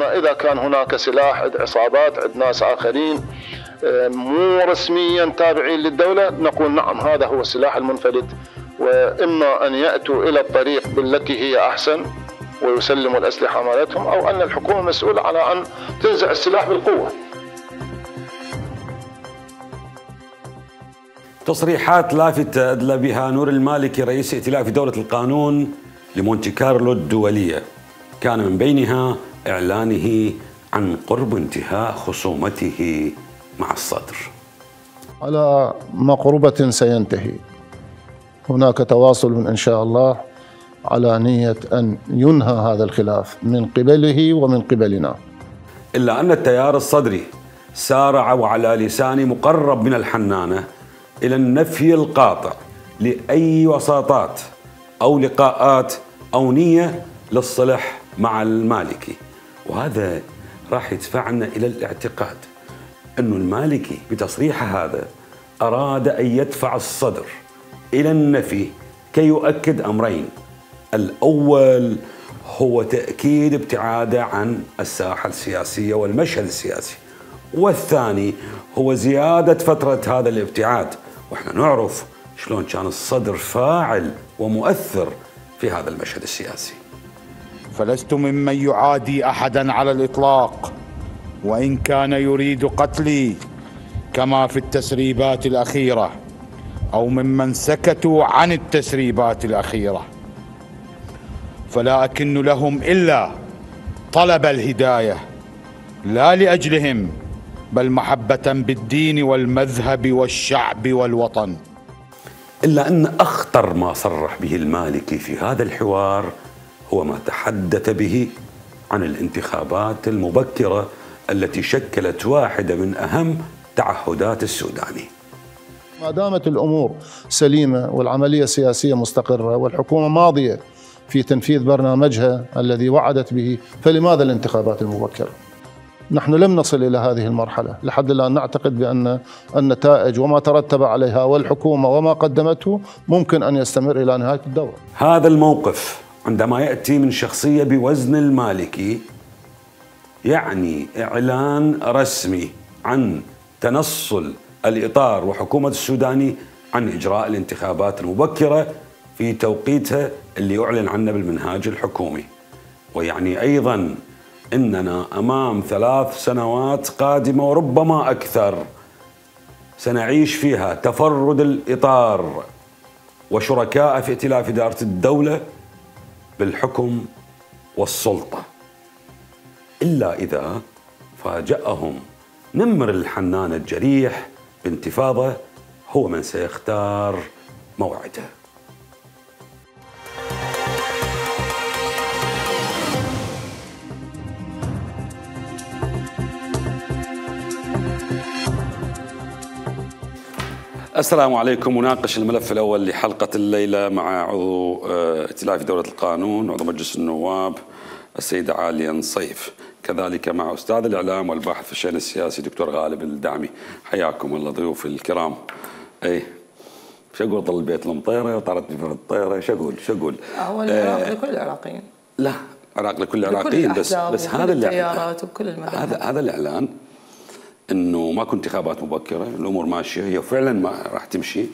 أما إذا كان هناك سلاح عند عصابات عند ناس آخرين مو رسميا تابعين للدولة، نقول نعم هذا هو السلاح المنفلت، وإما أن يأتوا إلى الطريق بالتي هي أحسن ويسلموا الأسلحة مالتهم، أو أن الحكومة مسؤولة على أن تنزع السلاح بالقوة. تصريحات لافتة أدلى بها نور المالكي رئيس ائتلاف دولة القانون لمونتي كارلو الدولية، كان من بينها إعلانه عن قرب انتهاء خصومته مع الصدر. على مقربة سينتهي، هناك تواصل إن شاء الله على نية أن ينهى هذا الخلاف من قبله ومن قبلنا. إلا أن التيار الصدري سارع وعلى لسان مقرب من الحنانة إلى النفي القاطع لأي وساطات أو لقاءات أو نية للصلح مع المالكي، وهذا راح يدفعنا إلى الاعتقاد أن المالكي بتصريحه هذا أراد أن يدفع الصدر إلى النفي كي يؤكد أمرين: الأول هو تأكيد ابتعاده عن الساحة السياسية والمشهد السياسي، والثاني هو زيادة فترة هذا الابتعاد، وإحنا نعرف شلون كان الصدر فاعل ومؤثر في هذا المشهد السياسي. فلست ممن يعادي أحدا على الإطلاق، وإن كان يريد قتلي كما في التسريبات الأخيرة، أو ممن سكتوا عن التسريبات الأخيرة، فلا أكن لهم إلا طلب الهداية، لا لأجلهم بل محبة بالدين والمذهب والشعب والوطن. إلا أن أخطر ما صرح به المالكي في هذا الحوار هو ما تحدث به عن الانتخابات المبكرة التي شكلت واحدة من أهم تعهدات السوداني. ما دامت الأمور سليمة والعملية السياسية مستقرة والحكومة ماضية في تنفيذ برنامجها الذي وعدت به، فلماذا الانتخابات المبكرة؟ نحن لم نصل إلى هذه المرحلة لحد الآن. نعتقد بأن النتائج وما ترتب عليها والحكومة وما قدمته ممكن أن يستمر إلى نهاية الدورة. هذا الموقف عندما يأتي من شخصية بوزن المالكي يعني إعلان رسمي عن تنصل الإطار وحكومة السوداني عن إجراء الانتخابات المبكرة في توقيتها اللي أعلن عنه بالمنهاج الحكومي، ويعني أيضا إننا أمام 3 سنوات قادمة وربما أكثر سنعيش فيها تفرد الإطار وشركاء في ائتلاف إدارة الدولة بالحكم والسلطة، إلا إذا فاجأهم نمر الحنان الجريح بانتفاضة هو من سيختار موعده. السلام عليكم. مناقش الملف الأول لحلقة الليلة مع عضو ائتلاف دولة القانون عضو مجلس النواب السيدة عالية نصيف، كذلك مع أستاذ الإعلام والباحث في الشأن السياسي دكتور غالب الدعمي. حياكم الله ضيوف الكرام. أي شو أقول؟ طل البيت المطيرة وطارت بفرد الطيرة. شو أقول؟ هو العراق لكل العراقيين. لا، عراق لكل العراقيين، بس هذا التيارات وبكل المذاهب. هذا الإعلان انه ماكو انتخابات مبكره، الامور ماشيه، هي فعلا ما راح تمشي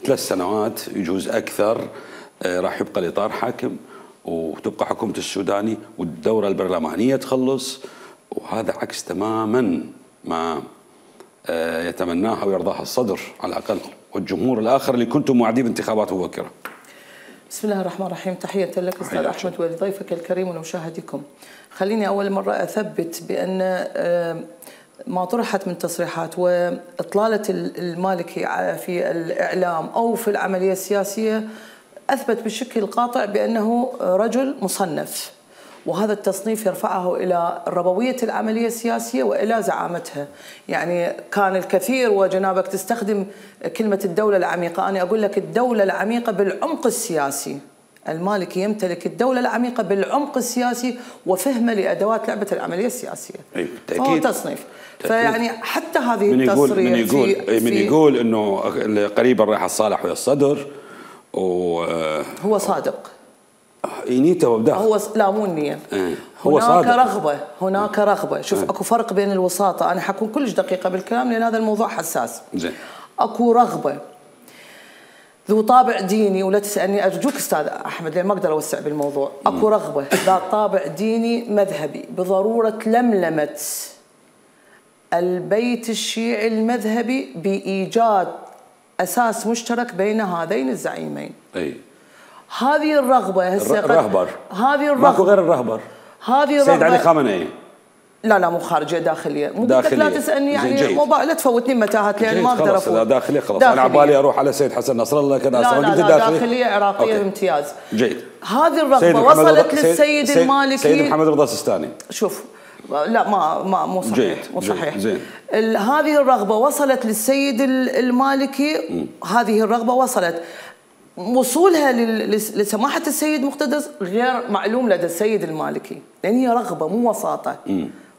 3 سنوات يجوز اكثر، راح يبقى الاطار حاكم وتبقى حكومه السوداني والدوره البرلمانيه تخلص، وهذا عكس تماما ما يتمناه او يرضاه الصدر على الاقل والجمهور الاخر اللي كنتم موعدين بانتخابات مبكره. بسم الله الرحمن الرحيم. تحيه لك استاذ احمد ولضيفك الكريم ولمشاهديكم. خليني اول مره اثبت بان ما طرحت من تصريحات وإطلالة المالكي في الإعلام أو في العملية السياسية أثبت بشكل قاطع بأنه رجل مصنف، وهذا التصنيف يرفعه إلى ربوية العملية السياسية وإلى زعامتها. يعني كان الكثير، وجنابك تستخدم كلمة الدولة العميقة، أنا أقول لك الدولة العميقة بالعمق السياسي. المالكي يمتلك الدولة العميقة بالعمق السياسي وفهمه لأدوات لعبة العملية السياسية. فهو تصنيف. فيعني حتى هذه التصريح من يقول انه قريبا راح الصالح ويا الصدر هو صادق. نيته بداخل. هو لا مو النية. هو هناك صادق. رغبة، هناك رغبة. شوف اكو فرق بين الوساطة، انا حكون كلش دقيقة بالكلام لان هذا الموضوع حساس. زين. اكو رغبة ذو طابع ديني، ولا تسألني أرجوك أستاذ أحمد لأن ما أقدر أوسع بالموضوع. أكو رغبة ذات طابع ديني مذهبي بضرورة لملمة البيت الشيعي المذهبي بإيجاد أساس مشترك بين هذين الزعيمين. أي. هذه الرغبة هسه الرهبر. هذه الرغبة. ماكو غير الرهبر. هذه الرغبة. سيد علي خامنئي. لا مو خارجيه، داخليه. مو داخلية. لا تسالني يعني لا تفوتني متاهات لان ما اقدر افوت. لا داخليه خلاص. انا على بالي اروح على سيد حسن نصر الله كذا. لا داخليه عراقيه بامتياز. جيد. هذه الرغبه وصلت للسيد المالكي. سيد محمد رضا السيستاني. شوف لا ما مو صحيح. جيد. مو صحيح. زين. هذه الرغبه وصلت للسيد المالكي. هذه الرغبه وصلت وصولها لسماحه السيد مقتدى غير معلوم لدى السيد المالكي لان هي رغبه مو وساطه.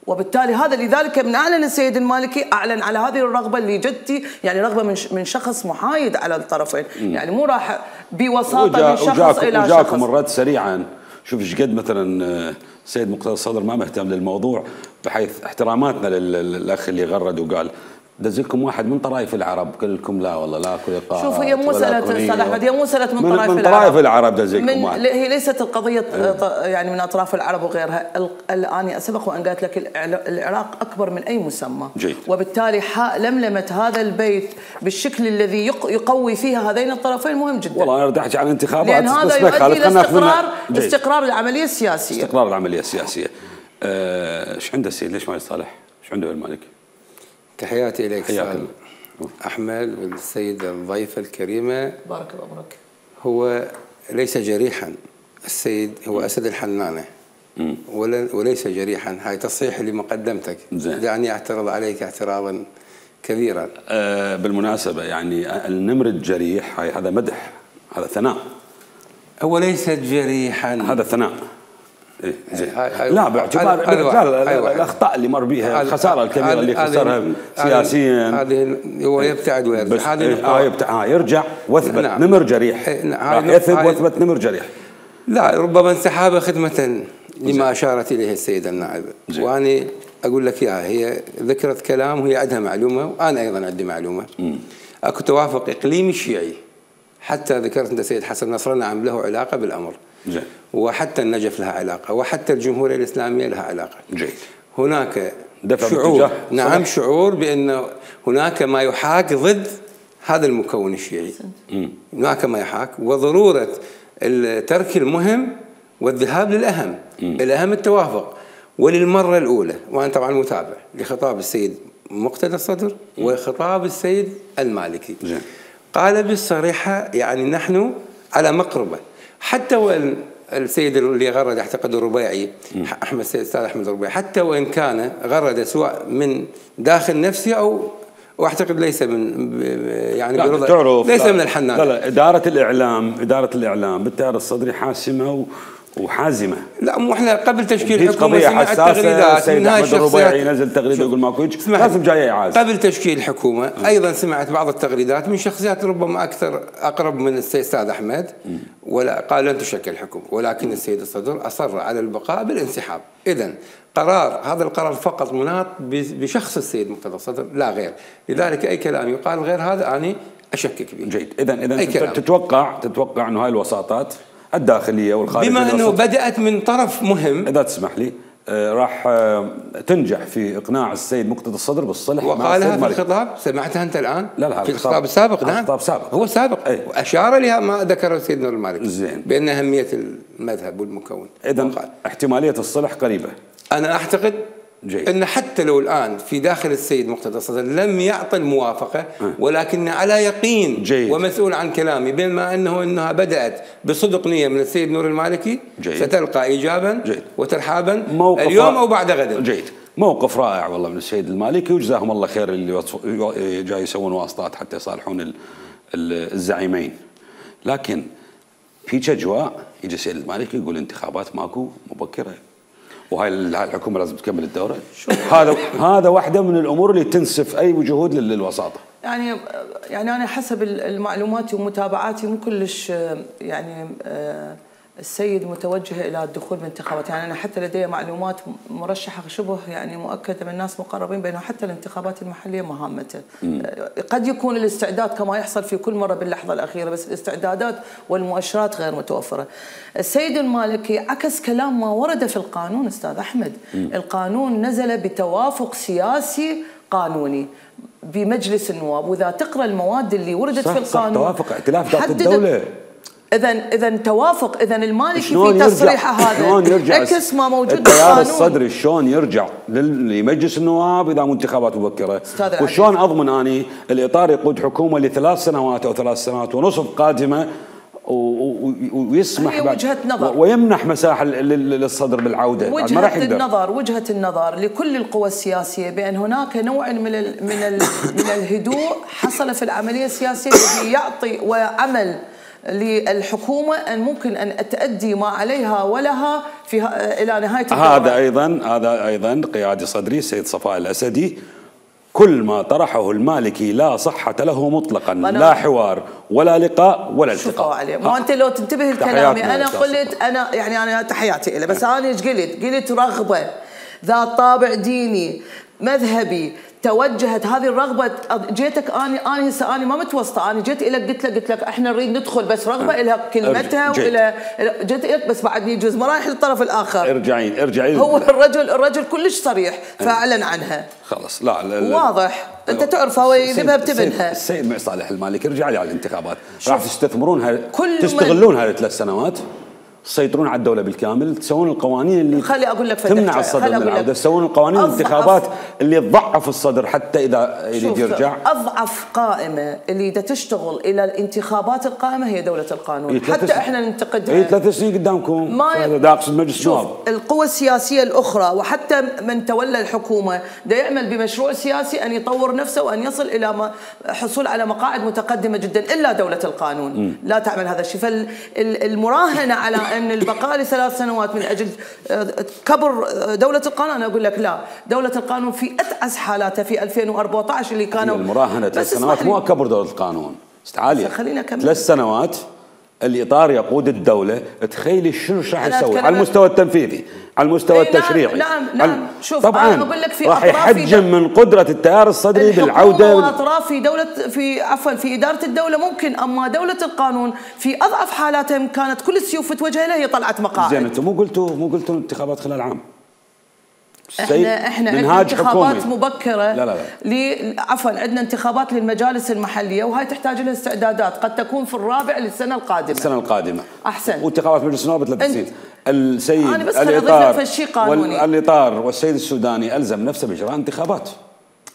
وبالتالي هذا لذلك من اعلن السيد المالكي اعلن على هذه الرغبه اللي جدتي يعني رغبه من شخص محايد على الطرفين. يعني مو راح بوساطه من شخص الى شخص. وجاكم الرد سريعا. شوف ايش قد مثلا السيد مقتدى الصدر ما مهتم للموضوع بحيث احتراماتنا للاخ اللي غرد وقال دزلكم واحد من طرائف العرب كلكم لا والله لا كل لقاء. شوف هي مو مساله استاذ احمد، هي مو مساله من طرائف العرب. من طرائف العرب دزلكم واحد. هي ليست القضيه يعني من اطراف العرب وغيرها. انا سبق وان قالت لك العراق اكبر من اي مسمى. جيد. وبالتالي لملمه هذا البيت بالشكل الذي يقوي فيها هذين الطرفين مهم جدا. والله انا بدي احكي عن انتخابات لان هذا يؤدي الى استقرار العمليه السياسيه. استقرار العمليه السياسيه. ايش عنده السيد؟ ليش ما يصالح؟ ايش عنده بالمالكي؟ تحياتي إليك أستاذ أحمد والسيدة الضيفة الكريمة. بارك الله فيك. هو ليس جريحا، السيد هو أسد الحنانة وليس جريحا. هاي تصحيح لمقدمتك. دعني أعترض عليك اعتراضا كبيرا. بالمناسبة يعني النمر الجريح هذا مدح، هذا ثناء. هو ليس جريحا، هذا ثناء. إيه زين. لا باعتبار الاخطاء اللي مر بها، الخساره الكبيره اللي خسرها سياسيا، هذه هو يبتعد ويرجع. هذه يرجع واثبت نمر جريح. يثبت واثبت نمر جريح. لا ربما انسحاب خدمه لما اشارت اليه السيده النائبه. وانا اقول لك اياها، هي ذكرت كلام وهي عندها معلومه وانا ايضا عندي معلومه. اكو توافق اقليمي شيعي، حتى ذكرت انت سيد حسن نصر نعم له علاقه بالامر. جيد. وحتى النجف لها علاقة، وحتى الجمهورية الإسلامية لها علاقة. جيد. هناك شعور، نعم شعور بأن هناك ما يحاك ضد هذا المكون الشيعي. هناك ما يحاك وضرورة الترك المهم والذهاب للأهم. الأهم التوافق. وللمرة الأولى وأنا طبعا متابع لخطاب السيد مقتدى الصدر وخطاب السيد المالكي. جيد. قال بالصريحة يعني نحن على مقربة. حتى وان السيد اللي غرد اعتقد الربيعي احمد السيد الاستاذ احمد الربيعي حتى وان كان غرد سواء من داخل نفسه او واعتقد ليس من يعني برضا ليس من الحنان. لا اداره الاعلام بالتيار الصدري حاسمه وحازمه. لا مو احنا قبل تشكيل الحكومه سمعت تغريدات من هاي الربيعي نزل تغريده يقول ماكو هيك لازم جاي اعاز. قبل تشكيل الحكومه ايضا سمعت بعض التغريدات من شخصيات ربما اكثر اقرب من الاستاذ احمد ولا قال لن تشكل الحكومه، ولكن السيد الصدر اصر على البقاء بالانسحاب. اذا هذا القرار فقط مناط بشخص السيد مقتدى الصدر لا غير، لذلك اي كلام يقال غير هذا اني اشكك به. جيد. اذا تتوقع انه هاي الوساطات الداخليه والخارجيه بما انه بدات من طرف مهم اذا تسمح لي راح تنجح في اقناع السيد مقتدى الصدر بالصلح مع وقالها في الخطاب. سمعتها انت الان؟ لا في الخطاب السابق. نعم الخطاب سابق، هو سابق. أي. واشار لها ما ذكره السيد نور المالكي زين بان اهميه المذهب والمكون. اذا احتماليه الصلح قريبه. انا اعتقد جيد. ان حتى لو الان في داخل السيد مقتدى الصدر لم يعطي الموافقه ولكن على يقين جيد. ومسؤول عن كلامي بما انها بدات بصدق نيه من السيد نور المالكي جيد. ستلقى ايجابا جيد. وترحابا اليوم او بعد غد. جيد. موقف رائع والله من السيد المالكي وجزاهم الله خير اللي جاي يسوون واسطات حتى يصالحون الزعيمين. لكن في اجواء يجي السيد المالكي يقول انتخابات ماكو مبكره وهاي الحكومه لازم تكمل الدوره. هذا واحده من الامور اللي تنسف اي جهود للوساطه. يعني انا حسب المعلومات ومتابعاتي مو كلش يعني السيد متوجه الى الدخول بانتخابات، يعني انا حتى لدي معلومات مرشحه شبه يعني مؤكده من ناس مقربين بانه حتى الانتخابات المحليه مهامته. قد يكون الاستعداد كما يحصل في كل مره باللحظه الاخيره، بس الاستعدادات والمؤشرات غير متوفره. السيد المالكي عكس كلام ما ورد في القانون استاذ احمد، القانون نزل بتوافق سياسي قانوني بمجلس النواب، واذا تقرا المواد اللي وردت في القانون توافق ائتلاف ذات الدوله. اذا توافق، اذا المالكي في تصريحه هذا عكس ما موجود بالقانون. التيار الصدري شلون يرجع لمجلس النواب اذا مو انتخابات مبكره؟ وشلون اضمن اني الاطار يقود حكومه ل3 سنوات او 3 سنوات ونصف قادمه ويسمح وجهة نظر ويمنح مساحه للصدر بالعوده؟ وجهة النظر لكل القوى السياسيه بان هناك نوع من الهدوء حصل في العمليه السياسيه الذي يعطي وعمل للحكومه ان ممكن ان تؤدي ما عليها ولها الى نهايه الدورة. هذا ايضا قيادي صدري السيد صفاء الاسدي كل ما طرحه المالكي لا صحة له مطلقا، لا حوار ولا لقاء ولا التقاء. عليه. ما انت لو تنتبه لكلامي انا قلت انا تحياتي له، بس انا ايش قلت رغبه ذات طابع ديني مذهبي توجهت هذه الرغبه. جيتك انا هسه انا ما متوسطه، انا جيت لك قلت لك احنا نريد ندخل، بس رغبه لها كلمتها والى جيت لك، بس بعد يجوز مراحل للطرف الاخر. ارجعي هو الرجل كلش صريح فاعلن عنها خلاص. لا واضح انت تعرف هو يذبها بتبنها. السيد معي صالح المالكي ارجع لي على الانتخابات، راح تستثمرون تستغلون هذه 3 سنوات، تسيطرون على الدولة بالكامل، تسوون القوانين اللي تمنع الصدر من العودة، تسوون القوانين الانتخابات اللي تضعف الصدر حتى إذا يريد يرجع. أضعف قائمة اللي تشتغل إلى الانتخابات القائمة هي دولة القانون، حتى إحنا ننتقدها. 3 سنين قدامكم، دا أقصد مجلس النواب. القوى السياسية الأخرى وحتى من تولى الحكومة دا يعمل بمشروع سياسي أن يطور نفسه وأن يصل إلى حصول على مقاعد متقدمة جدا، إلا دولة القانون لا تعمل هذا الشيء. فالمراهنة على أن البقاء ل3 سنوات من أجل كبر دولة القانون، أنا أقول لك لا، دولة القانون في أتعس حالاتها في 2014 اللي كانوا المراهنة 3 سنوات مو كبر دولة القانون استعالية. خلينا نكمل 3 سنوات الإطار يقود الدولة، تخيلي شنو راح يسوي على المستوى التنفيذي، على المستوى التشريعي. نعم شوف طبعا أنا أقول لك في راح يحجم من قدرة التيار الصدري بالعودة وأطراف في إدارة الدولة ممكن، أما دولة القانون في أضعف حالاتها كانت كل السيوف توجه لها، هي طلعت مقاعد. زين انتم مو قلتوا انتخابات خلال عام؟ احنا عندنا انتخابات مبكره. لا عفوا عندنا انتخابات للمجالس المحليه، وهاي تحتاج لها استعدادات قد تكون في الرابع للسنه القادمه. احسن. وانتخابات مجلس النواب 3 سنين. السيد انا بس اضيف شيء قانوني. الاطار والسيد السوداني الزم نفسه باجراء انتخابات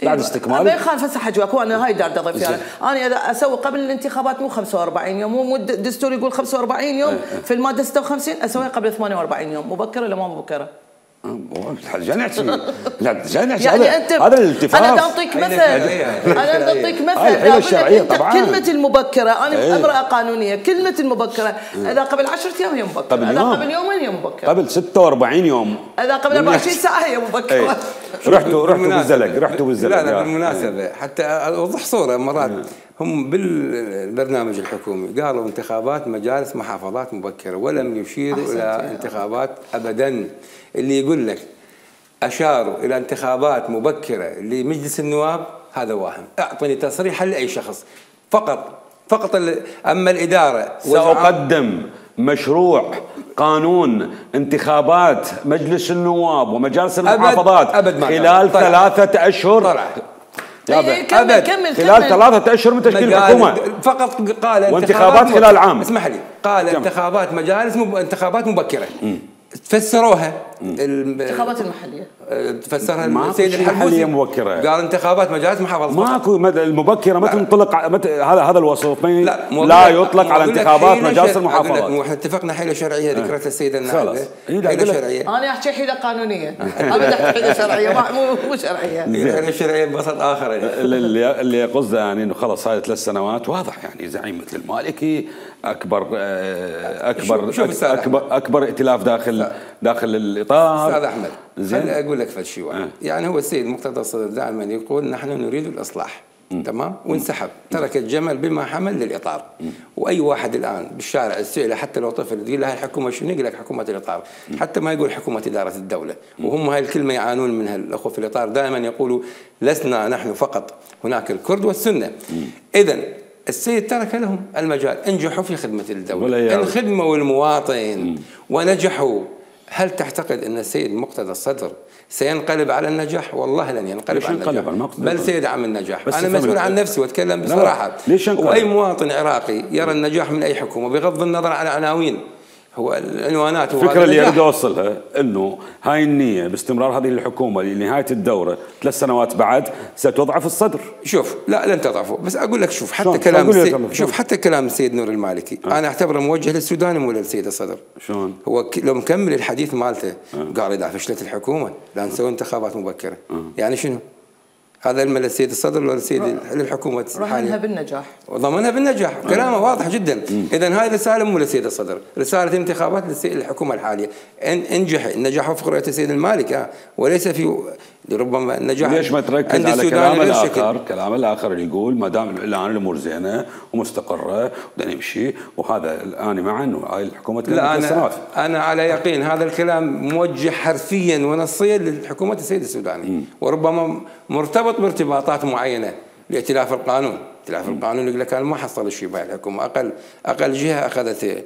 بعد استكمال. ما يخالف هسه حجواك، وانا هاي دار اضيف فيها. انا اذا اسوي قبل الانتخابات مو 45 يوم، مو الدستور يقول 45 يوم في الماده 56، اسويها قبل 48 يوم. مبكره ولا ما مبكره؟ لا نحكي يعني انت هذا الالتفاف. انا اعطيك مثل طبعا. كلمه المبكره انا امراه قانونيه، كلمه المبكره اذا قبل 10 ايام هي مبكره، اذا قبل يومين هي مبكره، قبل 46 يوم، اذا قبل 24 ساعه هي مبكره. رحتوا بالزلق. لا بالمناسبه حتى اوضح صوره، مرات هم بالبرنامج الحكومي قالوا انتخابات مجالس محافظات مبكره، ولم يشيروا الى انتخابات ابدا. اللي يقول لك أشاروا إلى انتخابات مبكرة لمجلس النواب هذا واهم. أعطني تصريحا لأي شخص فقط. أما الإدارة سأقدم مشروع قانون انتخابات مجلس النواب ومجالس المحافظات خلال 3 أشهر. كمل خلال 3 أشهر من تشكيل الحكومة. فقط قال وانتخابات خلال عام. اسمح لي، قال انتخابات مجالس انتخابات مبكرة. تفسروها الانتخابات المحليه، تفسرها السيد الحلبوسي مبكره، قال انتخابات مجالس محافظات. ماكو المبكره ما تنطلق هذا الوصف لا يطلق على انتخابات مجالس المحافظات. احنا اتفقنا حيله شرعيه ذكرتها السيده النائبه، حيله شرعيه. انا احكي حيله قانونيه، ابدا حيله شرعيه مو شرعيه. حيله شرعيه ببسط اخر. اللي قصده يعني انه خلص هاي 3 سنوات واضح، يعني زعيم مثل المالكي اكبر ائتلاف داخل الاطار. استاذ احمد خليني اقول لك فد شيء واحد. يعني هو السيد مقتدى الصدر دائما يقول نحن نريد الاصلاح، تمام، وانسحب، ترك الجمل بما حمل للاطار. واي واحد الان بالشارع تساله حتى لو طفل تقول له هاي الحكومه شنو؟ يقول لك حكومه الاطار، حتى ما يقول حكومه اداره الدوله. وهم هاي الكلمه يعانون منها الاخوه في الاطار، دائما يقولوا لسنا نحن فقط، هناك الكرد والسنه. اذا السيد ترك لهم المجال، انجحوا في خدمه الدوله، ان خدموا المواطن ونجحوا. هل تعتقد ان السيد مقتدى الصدر سينقلب على النجاح؟ والله لن ينقلب على النجاح، بل سيدعم النجاح. انا مسؤول عن نفسي واتكلم بصراحه. واي مواطن عراقي يرى النجاح من اي حكومه بغض النظر عن عناوين، هو العنوانات. الفكره اللي اريد اوصلها انه هاي النيه باستمرار هذه الحكومه لنهايه الدوره 3 سنوات بعد ستضعف الصدر. شوف، لا لن تضعفه، بس اقول لك شوف حتى كلام السيد نور المالكي انا اعتبره موجه للسوداني مو للسيد الصدر. شلون؟ هو لو مكمل الحديث مالته قال اذا فشلت الحكومه لا نسوي انتخابات مبكره. يعني شنو؟ هذا المل السيد الصدر ولا السيد الحكومه الحاليه؟ ضمنها بالنجاح، وضمنها بالنجاح، كلامه واضح جدا. اذا هاي رساله مو للسيد الصدر، رساله انتخابات للحكومه الحاليه. انجح النجاح وفق رؤيه السيد المالك، وليس في ربما النجاح. ليش ما تركز على كلام الاخر اللي يقول ما دام الان الامور زينه ومستقره بدنا نمشي، وهذا الان مع انه هاي الحكومه لا انا على يقين هذا الكلام موجه حرفيا ونصيا لحكومه السيد السوداني، وربما مرتبط بارتباطات معينه لائتلاف القانون. ائتلاف القانون يقول لك انا ما حصل شيء بهاي الحكومه، اقل جهه اخذت.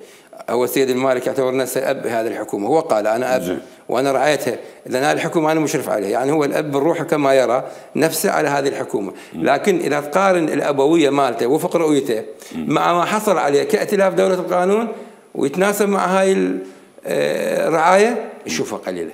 هو السيد المالك يعتبر نفسه اب هذه الحكومه، هو قال انا اب وانا رعيتها، اذا هذه الحكومه انا مشرف عليها، يعني هو الاب بالروح كما يرى نفسه على هذه الحكومه. لكن اذا تقارن الابويه مالته وفق رؤيته مع ما حصل عليه كائتلاف دوله القانون ويتناسب مع هاي الرعايه، يشوفها قليله.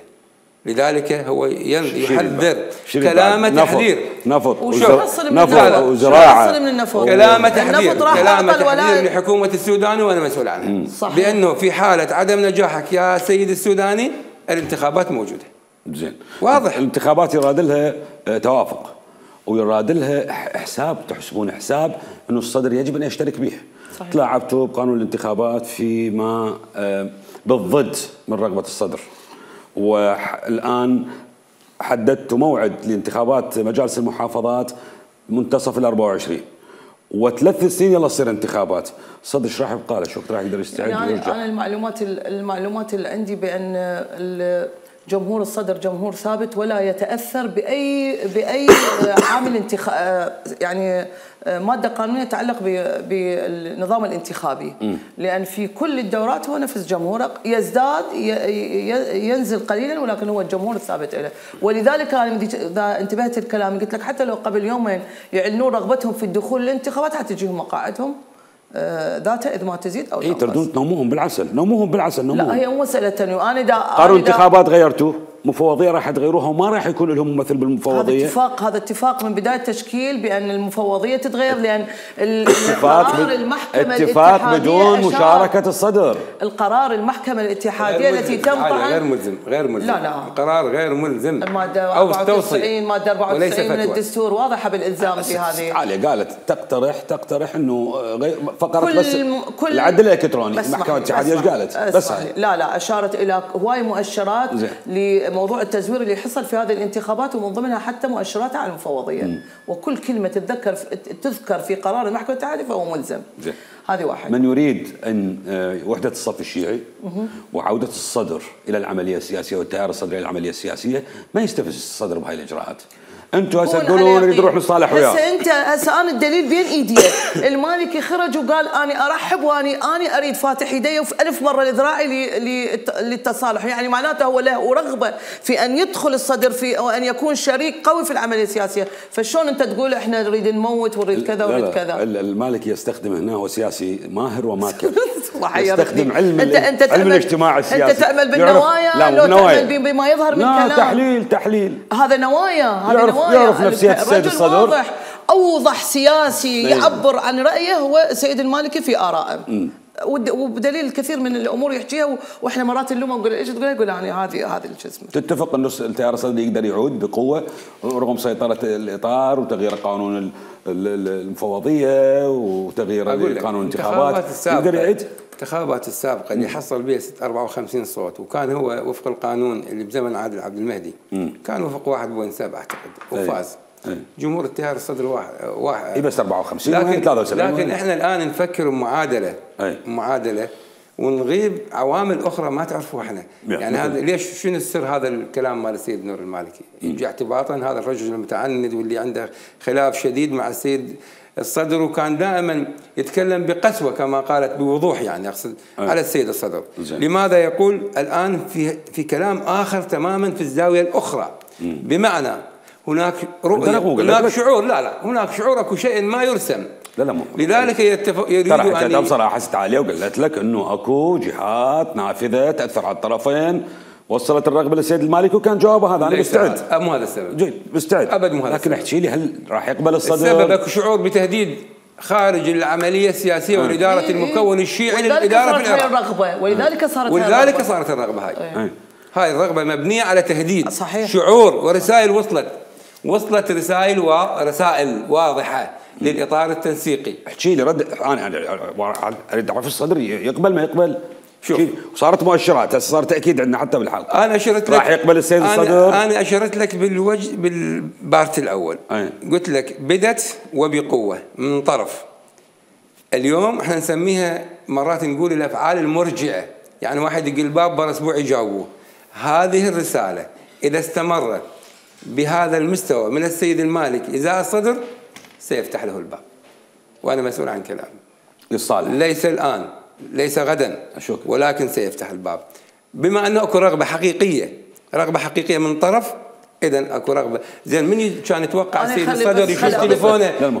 لذلك هو يحذر كلامه تحذير نفط وزراعه كلامه تحذير لحكومه السودان وانا مسؤول عنها، بانه في حاله عدم نجاحك يا سيد السوداني الانتخابات موجوده. زين، واضح. الانتخابات يراد لها توافق ويراد لها حساب، تحسبون حساب انه الصدر يجب ان يشترك به. تلاعبتوا بقانون الانتخابات فيما بالضد من رغبه الصدر، والآن حددت موعد لانتخابات مجالس المحافظات منتصف ال24 و3 سنين يلا تصير انتخابات. الصدر ايش راح يبقى له؟ شو راح يقدر يستعد ويرجع؟ انا المعلومات اللي عندي بان جمهور الصدر جمهور ثابت ولا يتاثر باي عامل يعني ماده قانونيه تتعلق بالنظام الانتخابي، لان في كل الدورات هو نفس جمهوره، يزداد ينزل قليلا ولكن هو الجمهور الثابت له. ولذلك انا اذا انتبهت الكلام قلت لك حتى لو قبل يومين يعلنون رغبتهم في الدخول للانتخابات حتجيهم مقاعدهم ذاتها اذا ما تزيد او تنقص. تردون تنوموهم بالعسل، نوموهم. لا هي مو مساله تنويم. انا قانون انتخابات غيرتوه، مفوضيه راح تغيروها وما راح يكون لهم ممثل بالمفوضيه. هذا اتفاق من بدايه التشكيل بان المفوضيه تتغير، لان قرار المحكمه اتفاق بدون مشاركه الصدر. القرار المحكمه الاتحاديه التي تنطعن غير ملزم. لا القرار غير ملزم. الماده 94 ماده 94 من الدستور واضحه بالالزام في هذه. علي قالت تقترح انه فقرت بس العدل الالكتروني. المحكمه الاتحاديه ايش قالت؟ بس لا اشارت الى هواي مؤشرات موضوع التزوير اللي حصل في هذه الانتخابات، ومن ضمنها حتى مؤشرات على المفوضيه. وكل كلمه تذكر في قرار المحكمه الاتحاديه فهو ملزم. هذه واحد. من يريد ان وحده الصف الشيعي وعوده الصدر الى العمليه السياسيه والتيار الصدري الى العمليه السياسيه ما يستفز الصدر بهاي الاجراءات. انتم هسه تقولون نريد نروح نصالح وياه. هسه انا الدليل بين ايدي. المالكي خرج وقال انا ارحب واني اريد فاتح يدي ألف مره لذراعي للتصالح، يعني معناته هو له رغبه في ان يدخل الصدر في وان يكون شريك قوي في العمليه السياسيه. فشلون انت تقول احنا نريد نموت ونريد كذا ونريد كذا؟ المالكي يستخدم هنا، هو سياسي ماهر وماكر. يستخدم علم الاجتماع السياسي. انت تأمل بالنوايا لو تأمل بما يظهر من كلام. تحليل هذا نوايا. يعرف نفسية السيد الصدر. واضح اوضح سياسي يعبر عن رايه هو السيد المالكي في ارائه، وبدليل الكثير من الامور يحكيها، واحنا مرات نلومه نقول ايش تقول؟ يقول يعني هذه الجسم. تتفق انه التيار الصدري يقدر يعود بقوه رغم سيطره الاطار وتغيير قانون المفوضيه وتغيير قانون الانتخابات؟ يقدر يعيد الانتخابات السابقه اللي حصل بها 54 صوت، وكان هو وفق القانون اللي بزمن عادل عبد المهدي كان وفق 1.7 اعتقد وفاز. جمهور التيار الصدر واحد بس 54 وين 73 لكن احنا الان نفكر بمعادله ونغيب عوامل اخرى ما تعرفوها احنا. يعني هذا ليش شنو السر هذا الكلام مال السيد نور المالكي؟ يجي اعتباطا هذا الرجل المتعند واللي عنده خلاف شديد مع السيد الصدر، وكان دائما يتكلم بقسوه كما قالت بوضوح، يعني اقصد على السيد الصدر. لماذا يقول الان في كلام اخر تماما في الزاويه الاخرى؟ بمعنى هناك رؤيه، هناك شعور، هناك شعور، اكو شيء ما يرسم. لا لذلك يريدوا ان ترى بصراحه حست عليه وقالت لك انه اكو جهات نافذه تاثر على الطرفين، وصلت الرغبه للسيد المالكي، وكان جوابه هذا انا مستعد. مو هذا السبب. جيد مستعد ابد مو هذا. لكن احكي لي هل راح يقبل الصدر؟ السبب اكو شعور بتهديد خارج العمليه السياسيه والاداره المكون الشيعي للاداره في العراق. ولذلك صارت الرغبه هاي. هاي الرغبه مبنيه على تهديد. صحيح. شعور ورسائل وصلت رسائل واضحه للاطار التنسيقي. احكي لي رد، انا اريد اعرف الصدر يقبل ما يقبل. شوف صارت مؤشرات، هسه صار تاكيد عندنا حتى بالحلقه. انا اشرت لك راح يقبل السيد الصدر. انا اشرت لك بالبارت الاول. قلت لك بدت وبقوه من طرف. اليوم احنا نسميها مرات نقول الافعال المرجئه، يعني واحد يقول الباب بر اسبوع يجاوبوه. هذه الرساله اذا استمرت بهذا المستوى من السيد المالكي ازاء الصدر سيفتح له الباب، وانا مسؤول عن كلامي للصالح، ليس الان، ليس غدا، ولكن سيفتح الباب. بما انه اكو رغبه حقيقيه من طرف، اذا اكو رغبه. زين من كان يتوقع السيد الصدر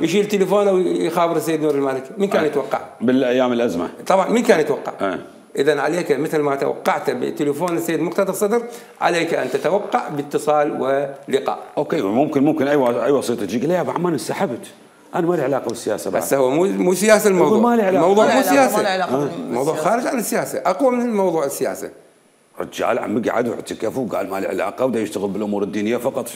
يشيل تليفونه ويخابر السيد نور المالكي؟ من كان يتوقع؟ بالايام الازمه طبعا من كان يتوقع؟ اذا عليك مثل ما توقعت بتليفون السيد مقتدى الصدر، عليك ان تتوقع باتصال ولقاء. اوكي، ممكن اي وسيط تجي لي يا ابو عمان انسحبت، انا ما لي علاقه بالسياسه بعد. بس هو مو سياسه الموضوع. ما لي علاقه، الموضوع مو سياسه، الموضوع خارج عن السياسه، اقوى من الموضوع السياسه. رجال عمي قعد واعتكف وقال ما لي علاقه ودا يشتغل بالامور الدينيه فقط.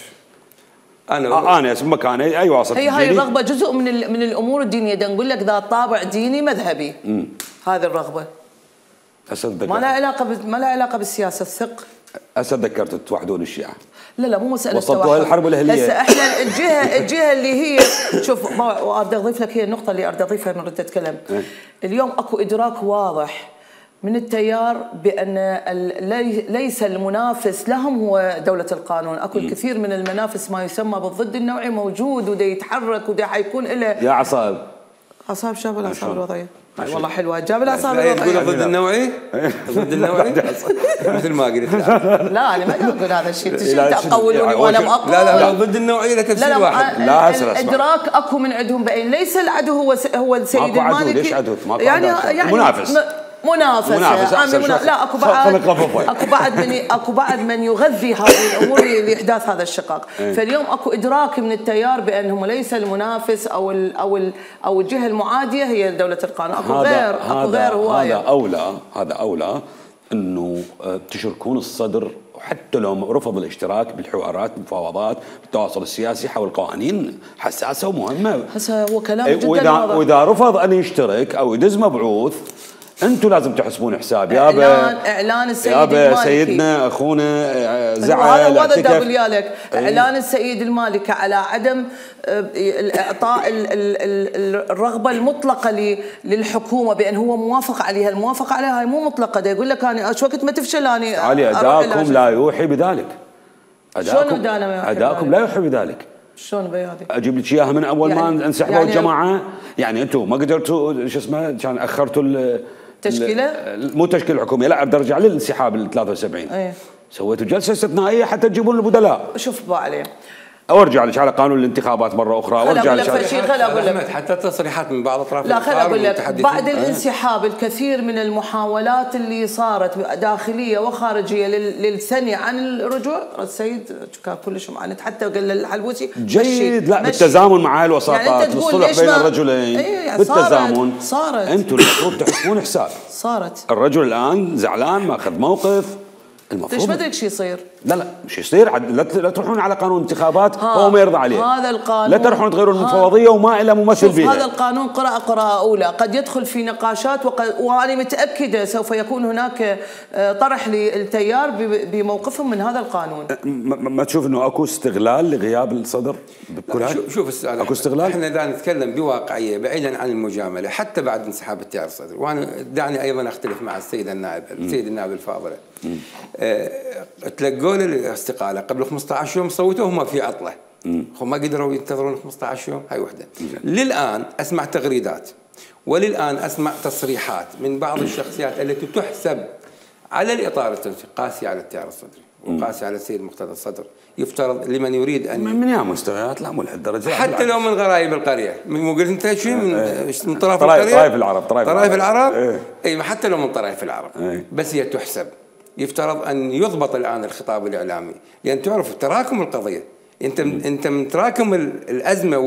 انا اسم مكاني اي واسط. هاي الرغبه جزء من الامور الدينيه، دا نقول لك ذات طابع ديني مذهبي. هذه الرغبه ما لها علاقه بالسياسه، الثق. هسه تذكرت توحدون الشيعه. لا مو مساله وصلتوا الحرب الاهليه. هسه احنا الجهه اللي هي شوف، اريد اضيف لك، هي النقطه اللي اريد اضيفها من رد اتكلم. اليوم اكو ادراك واضح من التيار بان ليس المنافس لهم هو دوله القانون. اكو الكثير من المنافس ما يسمى بالضد النوعي موجود ودا يتحرك ودا حيكون له يا عصاب شاب العصاب الوضعيه. والله حلوه، جاب العصاب الوضعيه. تقول ضد النوعي؟ ضد النوعي؟ مثل ما قلت. لا انا ما اقول هذا الشيء، تقولوني وانا اقول. لا ضد النوعيه لتفسير واحد. لا الادراك اكو من عندهم بين ليس العدو هو السيد المالكي. ليش عدو؟ يعني منافس. لا اكو بعد من يغذي هذه الامور لاحداث هذا الشقاق. فاليوم اكو ادراك من التيار بانهم ليس المنافس او الجهه المعاديه هي دوله القانون. اكو غير هوايه. هذا اولى انه تشركون الصدر، حتى لو رفض الاشتراك بالحوارات بالمفاوضات بالتواصل السياسي حول قوانين حساسه ومهمه. هسه هو كلام جدا واضح. واذا رفض ان يشترك او يدز مبعوث، انتم لازم تحسبون حساب. اعلان السيد المالكي، سيدنا اخونا زعل. هذا اللي اقول لك. اعلان السيد المالكي على عدم اعطاء الرغبه المطلقه للحكومه بان هو موافق عليها. الموافقه عليها هاي مو مطلقه، ده يقول لك انا شو وقت ما تفشل انا علي اداءكم لا يوحي بذلك. اداءكم لا يوحي بذلك. شلون بيادي؟ اجيب لك اياها من اول ما انسحبوا الجماعه. يعني انتم ما قدرتوا شو اسمه، كان اخرتوا التشكيله، مو التشكيله الحكوميه، لا برجع للانسحاب ال 73. سويتوا جلسه استثنائيه حتى تجيبون البدلاء. شوف بقى عليه. او ارجع لك على قانون الانتخابات مره اخرى، وارجع لك خل اقول لك حتى تصريحات من بعض اطراف. لا خل اقول لك، بعد الانسحاب الكثير من المحاولات اللي صارت داخليه وخارجيه للثني عن الرجوع، السيد كان كلش معاند، حتى قال للحلبوسي جيد. لا بالتزامن مع الوساطات، يعني الصلح بين الرجلين. بالتزامن صارت. انتم المفروض تحسبون حساب. صارت. الرجل الان زعلان، ماخذ موقف، ليش ما ادري شو يصير؟ لا مش يصير، لا تروحون على قانون انتخابات هو ما يرضى عليه. هذا القانون لا تروحون تغيرون المفوضيه وما له ممثل بيها. هذا القانون قراءة أولى قد يدخل في نقاشات، وأنا متأكدة سوف يكون هناك طرح للتيار بموقفهم من هذا القانون. ما تشوف انه اكو استغلال لغياب الصدر بكل هذا؟ شوف السؤال، اكو استغلال. احنا دا نتكلم بواقعيه بعيدا عن المجامله حتى بعد انسحاب التيار الصدري، وانا دعني ايضا اختلف مع السيد النائب الفاضله. تلقوا له الاستقاله قبل 15 يوم، صوتوا هم في عطله، هم ما قدروا ينتظرون 15 يوم. هاي وحده. للان اسمع تغريدات وللان اسمع تصريحات من بعض الشخصيات التي تحسب على الاطار التنسيقي قاسي على التيار الصدري وقاسي على السيد مقتدى الصدر. يفترض لمن يريد ان من يا مستويات، لا مو لهالدرجه، حتى لو من غرايب القريه، من قلت انت شو من طرف القريه، طرائف العرب اي حتى لو من طرائف العرب، بس هي تحسب. يفترض ان يضبط الان الخطاب الاعلامي، لان تعرف تراكم القضيه، انت من تراكم الازمه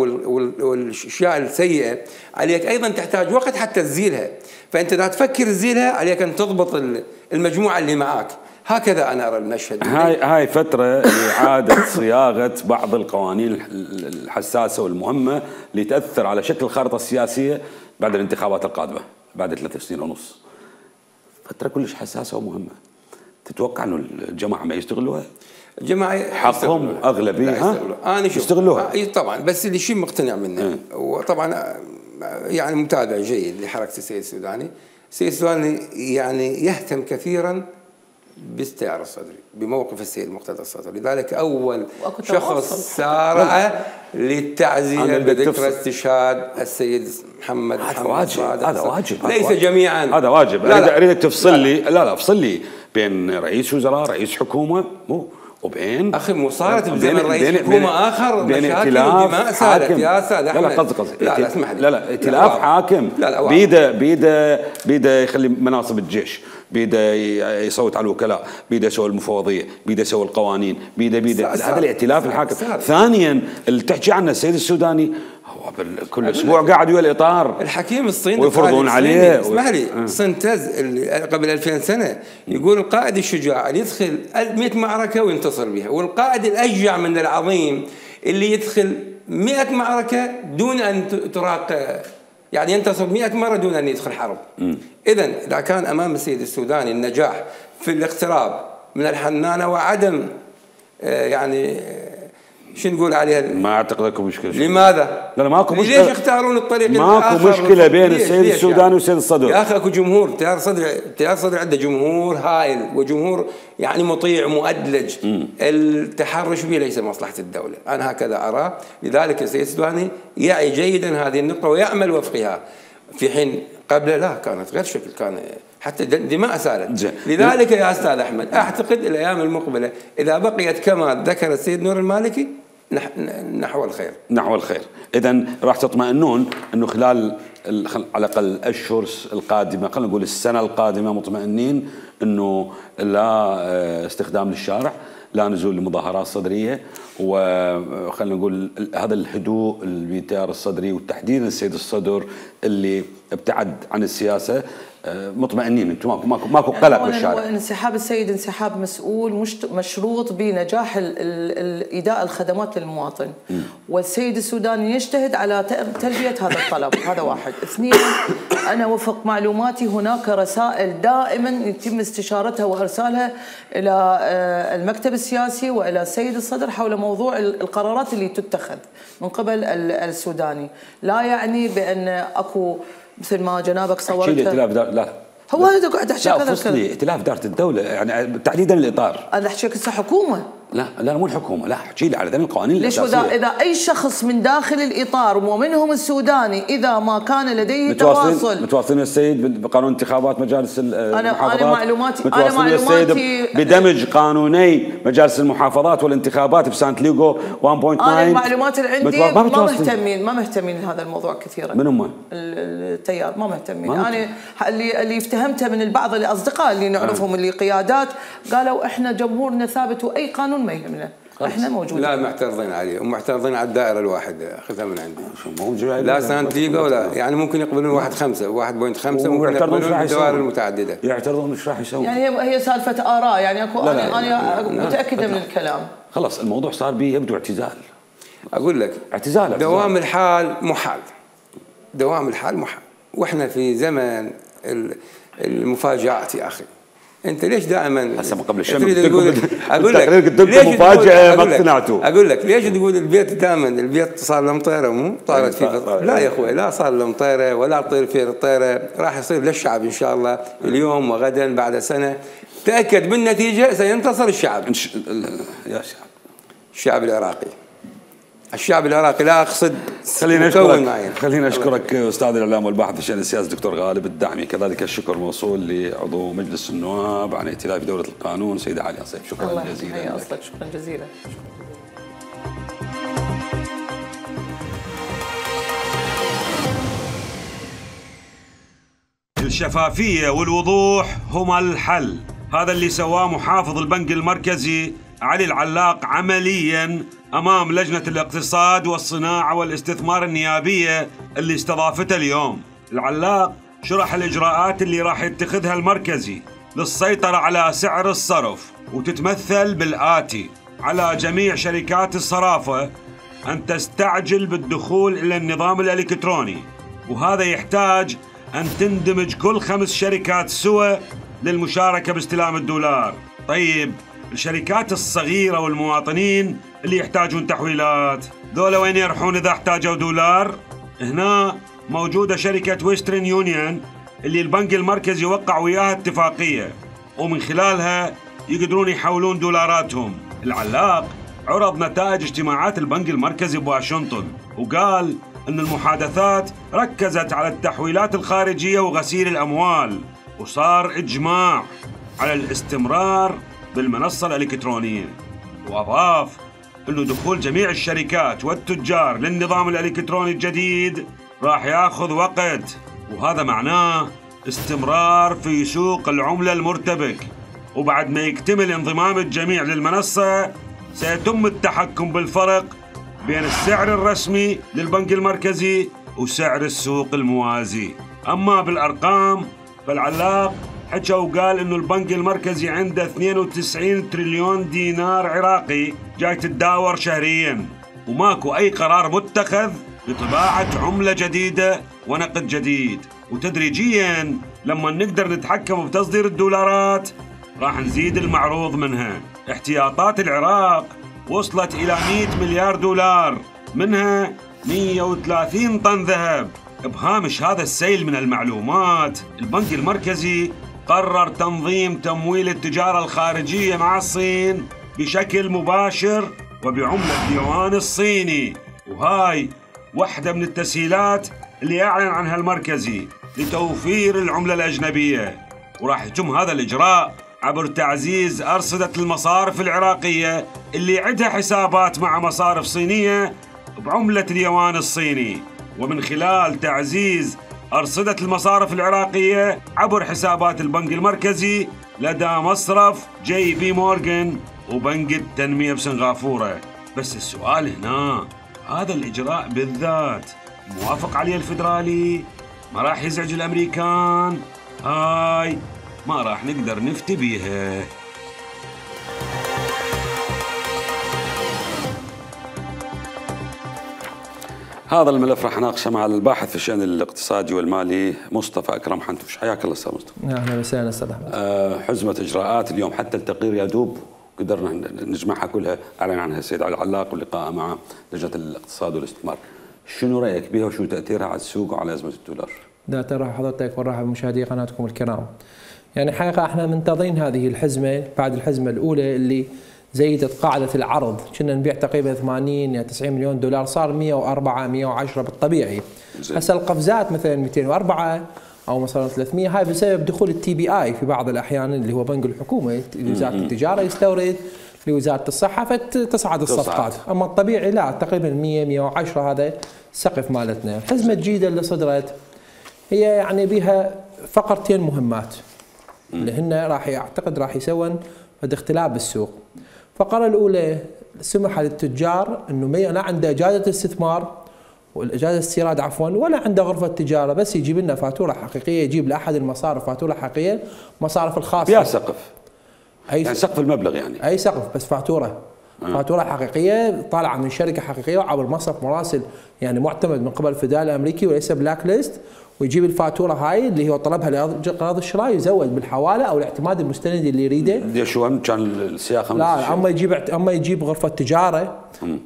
والاشياء السيئه عليك ايضا تحتاج وقت حتى تزيلها، فانت اذا تفكر تزيلها عليك ان تضبط المجموعه اللي معاك. هكذا انا ارى المشهد. هاي فتره لاعاده صياغه بعض القوانين الحساسه والمهمه اللي تاثر على شكل الخارطه السياسيه بعد الانتخابات القادمه بعد 3 سنين ونص. فتره كلش حساسه ومهمه. تتوقع انه الجماعه ما يستغلوها؟ الجماعه حقهم اغلبيه انا شوف يستغلوها طبعا، بس اللي شيء مقتنع منه وطبعا يعني متابع جيد لحركه السيد السوداني. السيد السوداني يعني يهتم كثيرا بالتيار الصدري، بموقف السيد مقتدى الصدر، لذلك اول شخص سارع للتعزيه بذكرى استشهاد السيد محمد صادق. هذا واجب، ليس جميعا، هذا واجب. اريدك تفصل لي، لا افصل لي بين رئيس وزراء، رئيس حكومه، وبين اخي مو صارت بزمن رئيس حكومه اخر بين مشاكل ودماء صارت يا استاذ احمد. لا قصدي لا اسمح لي، لا ائتلاف حاكم بيده يخلي مناصب الجيش، بيده يصوت على الوكلاء، بيده يسوي المفوضيه، بيده يسوي القوانين، بيده هذا الائتلاف الحاكم. ثانيا اللي تحكي عنه السيد السوداني هو كل اسبوع قاعد ويا الاطار الحكيم الصيني ويفرضون عليه. اسمح لي سنتز اللي قبل 2000 سنه يقول القائد الشجاع اللي يدخل 100 معركه وينتصر بها، والقائد الاشجع من العظيم اللي يدخل 100 معركه دون ان تراق، يعني ينتصر 100 مره دون ان يدخل حرب. اذا اذا كان امام السيد السوداني النجاح في الاقتراب من الحنانه وعدم يعني شو نقول عليها، ما اعتقد اكو مشكله. لماذا؟ لا ماكو مشكله. ليش يختارون الطريق الاخر؟ ماكو مشكله بين السيد السوداني والسيد الصدر. يا اخي اكو جمهور، التيار الصدري عنده جمهور هائل وجمهور يعني مطيع مؤدلج. التحرش به ليس مصلحه الدوله، انا هكذا ارى. لذلك السيد السوداني يعي جيدا هذه النقطه ويعمل وفقها، في حين قبل لا كانت غير شكل، كان حتى دماء سالت. لذلك يا استاذ احمد اعتقد الايام المقبله اذا بقيت كما ذكر السيد نور المالكي نحو الخير. نحو الخير. اذا راح تطمئنون انه خلال على الاقل الاشهر القادمه، خلينا نقول السنه القادمه، مطمئنين انه لا استخدام للشارع، لا نزول لمظاهرات صدريه، وخلينا نقول هذا الهدوء بالتيار الصدري وتحديدا السيد الصدر اللي ابتعد عن السياسه. مطمئنين انتم ماكو قلق بالشارع. انسحاب السيد انسحاب مسؤول مشروط بنجاح ايداء الخدمات للمواطن، والسيد السوداني يجتهد على تلبيه هذا الطلب. هذا واحد. اثنين، انا وفق معلوماتي هناك رسائل دائما يتم استشارتها وارسالها الى المكتب السياسي والى السيد الصدر حول موضوع القرارات اللي تتخذ من قبل السوداني. لا يعني بان اكو مثل ما جنابك صورت لا هو هذا قاعد احكي كذا. لا فصلي ائتلاف اداره الدوله، يعني تحديدا الاطار. انا احكي لك هسه حكومه. لا مو الحكومه، لا احكي لي على ذنب القوانين الاساسيه. ليش اذا اي شخص من داخل الاطار ومنهم السوداني اذا ما كان لديه تواصل متواصلين السيد بقانون انتخابات مجالس المحافظات. انا معلوماتي السيد بدمج قانوني مجالس المحافظات والانتخابات بسانت ليغو 1.9. انا المعلومات اللي عندي ما مهتمين لهذا الموضوع كثيرا. من هم؟ التيار ما مهتمين. انا اللي افتهمته من البعض الاصدقاء اللي نعرفهم اللي قيادات قالوا احنا جمهورنا ثابت واي قانون ما يهمنا. احنا موجودين. لا معترضين عليه ومعترضين على الدائره الواحده، اخذها من عندي. لا سانتياغو ولا يعني ممكن يقبلون 1.5 1.5 ممكن يقبلون الدوائر المتعدده. يعترضون مش راح يسوي. يعني هي سالفه اراء يعني اكو. انا متاكده من الكلام. خلاص الموضوع صار به يبدو اعتزال. اقول لك اعتزال. دوام الحال محال. دوام الحال محال، واحنا في زمن المفاجآت يا اخي. انت ليش دائما هسه قبل الشم اقول لك قلت لكم مفاجاه ما اقتنعتوا. اقول لك ليش تقول البيت دائما البيت صار له مطيره مو طارت فيه. لا يا اخوي، لا صار له مطيره ولا طير فيه الطيره، راح يصير للشعب ان شاء الله اليوم وغدا بعد سنه. تاكد من النتيجه، سينتصر الشعب. يا شعب الشعب العراقي. الشعب العراقي لا اقصد خلينا اشكرك استاذ الاعلام والباحث في الشان السياسي دكتور غالب الدعمي، كذلك الشكر موصول لعضو مجلس النواب عن ائتلاف دوله القانون سيده عليا صيف. شكرا جزيلا. الله يحيي شكرا جزيلا. الشفافيه والوضوح هما الحل، هذا اللي سواه محافظ البنك المركزي علي العلاق عملياً أمام لجنة الاقتصاد والصناعة والاستثمار النيابية اللي استضافتها اليوم. العلاق شرح الإجراءات اللي راح يتخذها المركزي للسيطرة على سعر الصرف، وتتمثل بالآتي: على جميع شركات الصرافة أن تستعجل بالدخول إلى النظام الإلكتروني، وهذا يحتاج أن تندمج كل 5 شركات سوا للمشاركة باستلام الدولار. طيب الشركات الصغيرة والمواطنين اللي يحتاجون تحويلات، ذولا وين يروحون إذا احتاجوا دولار؟ هنا موجودة شركة ويسترن يونيون اللي البنك المركزي وقع وياها اتفاقية، ومن خلالها يقدرون يحولون دولاراتهم. العلاق عرض نتائج اجتماعات البنك المركزي بواشنطن، وقال أن المحادثات ركزت على التحويلات الخارجية وغسيل الأموال، وصار إجماع على الاستمرار بالمنصة الإلكترونية. وأضاف أنه دخول جميع الشركات والتجار للنظام الإلكتروني الجديد راح ياخذ وقت، وهذا معناه استمرار في سوق العملة المرتبك، وبعد ما يكتمل انضمام الجميع للمنصة سيتم التحكم بالفرق بين السعر الرسمي للبنك المركزي وسعر السوق الموازي. أما بالأرقام فالعلاق حكى وقال إنه البنك المركزي عنده 92 تريليون دينار عراقي جاي تتداور شهرياً، وماكو أي قرار متخذ بطباعة عملة جديدة ونقد جديد. وتدريجياً لما نقدر نتحكم بتصدير الدولارات راح نزيد المعروض منها. احتياطات العراق وصلت إلى 100 مليار دولار، منها 130 طن ذهب. بهامش هذا السيل من المعلومات، البنك المركزي قرر تنظيم تمويل التجارة الخارجية مع الصين بشكل مباشر وبعملة اليوان الصيني، وهاي واحدة من التسهيلات اللي أعلن عنها المركزي لتوفير العملة الأجنبية. وراح يتم هذا الإجراء عبر تعزيز أرصدة المصارف العراقية اللي عندها حسابات مع مصارف صينية بعملة اليوان الصيني، ومن خلال تعزيز أرصدة المصارف العراقية عبر حسابات البنك المركزي لدى مصرف جي بي مورغان وبنك التنمية بسنغافورة. بس السؤال هنا، هذا الإجراء بالذات موافق عليه الفيدرالي؟ ما راح يزعج الأمريكان؟ هاي ما راح نقدر نفتي بيها. هذا الملف راح ناقشه مع الباحث في الشأن الاقتصادي والمالي مصطفى أكرم حنتوش. حياك الله أستاذ مصطفى. أهلا وسهلا أستاذ أحمد. حزمة إجراءات اليوم حتى التقرير يدوب قدرنا نجمعها كلها، أعلن عنها السيد علي العلاق واللقاء مع لجنة الاقتصاد والاستثمار. شنو رأيك بها وشو تأثيرها على السوق وعلى أزمة الدولار؟ لا ترى حضرتك ورحب بمشاهدي قناتكم الكرام. يعني حقيقة احنا منتظرين هذه الحزمة بعد الحزمة الأولى اللي زيدت قاعدة العرض، كنا نبيع تقريبا 80 إلى 90 مليون دولار، صار 104 110 بالطبيعي. هسه القفزات مثلا 204 أو مثلا 300، هاي بسبب دخول التي بي آي في بعض الأحيان اللي هو بنك الحكومة لوزارة التجارة يستورد لوزارة الصحة فتصعد الصفقات، أما الطبيعي لا تقريبا 100 110 هذا السقف مالتنا. الحزمة الجديدة اللي صدرت هي يعني بها فقرتين مهمات اللي هن راح اعتقد راح يسوون فد اختلاف بالسوق. الفقرة الأولى سمح للتجار انه ما لا عنده اجازه استثمار والاجازه استيراد عفوا، ولا عنده غرفه تجاره، بس يجيب لنا فاتوره حقيقيه، يجيب لاحد المصارف فاتوره حقيقيه، مصارف الخاصه فيها سقف، يعني سقف المبلغ، يعني اي سقف بس فاتوره فاتوره حقيقيه طالعه من شركه حقيقيه وعبر مصرف مراسل يعني معتمد من قبل الفدرالي الامريكي وليس بلاك ليست، ويجيب الفاتوره هاي اللي هو طلبها لقراض الشراء، يزود بالحواله او الاعتماد المستند اللي يريده. شو كان السياقه؟ لا اما يجيب غرفه تجاره.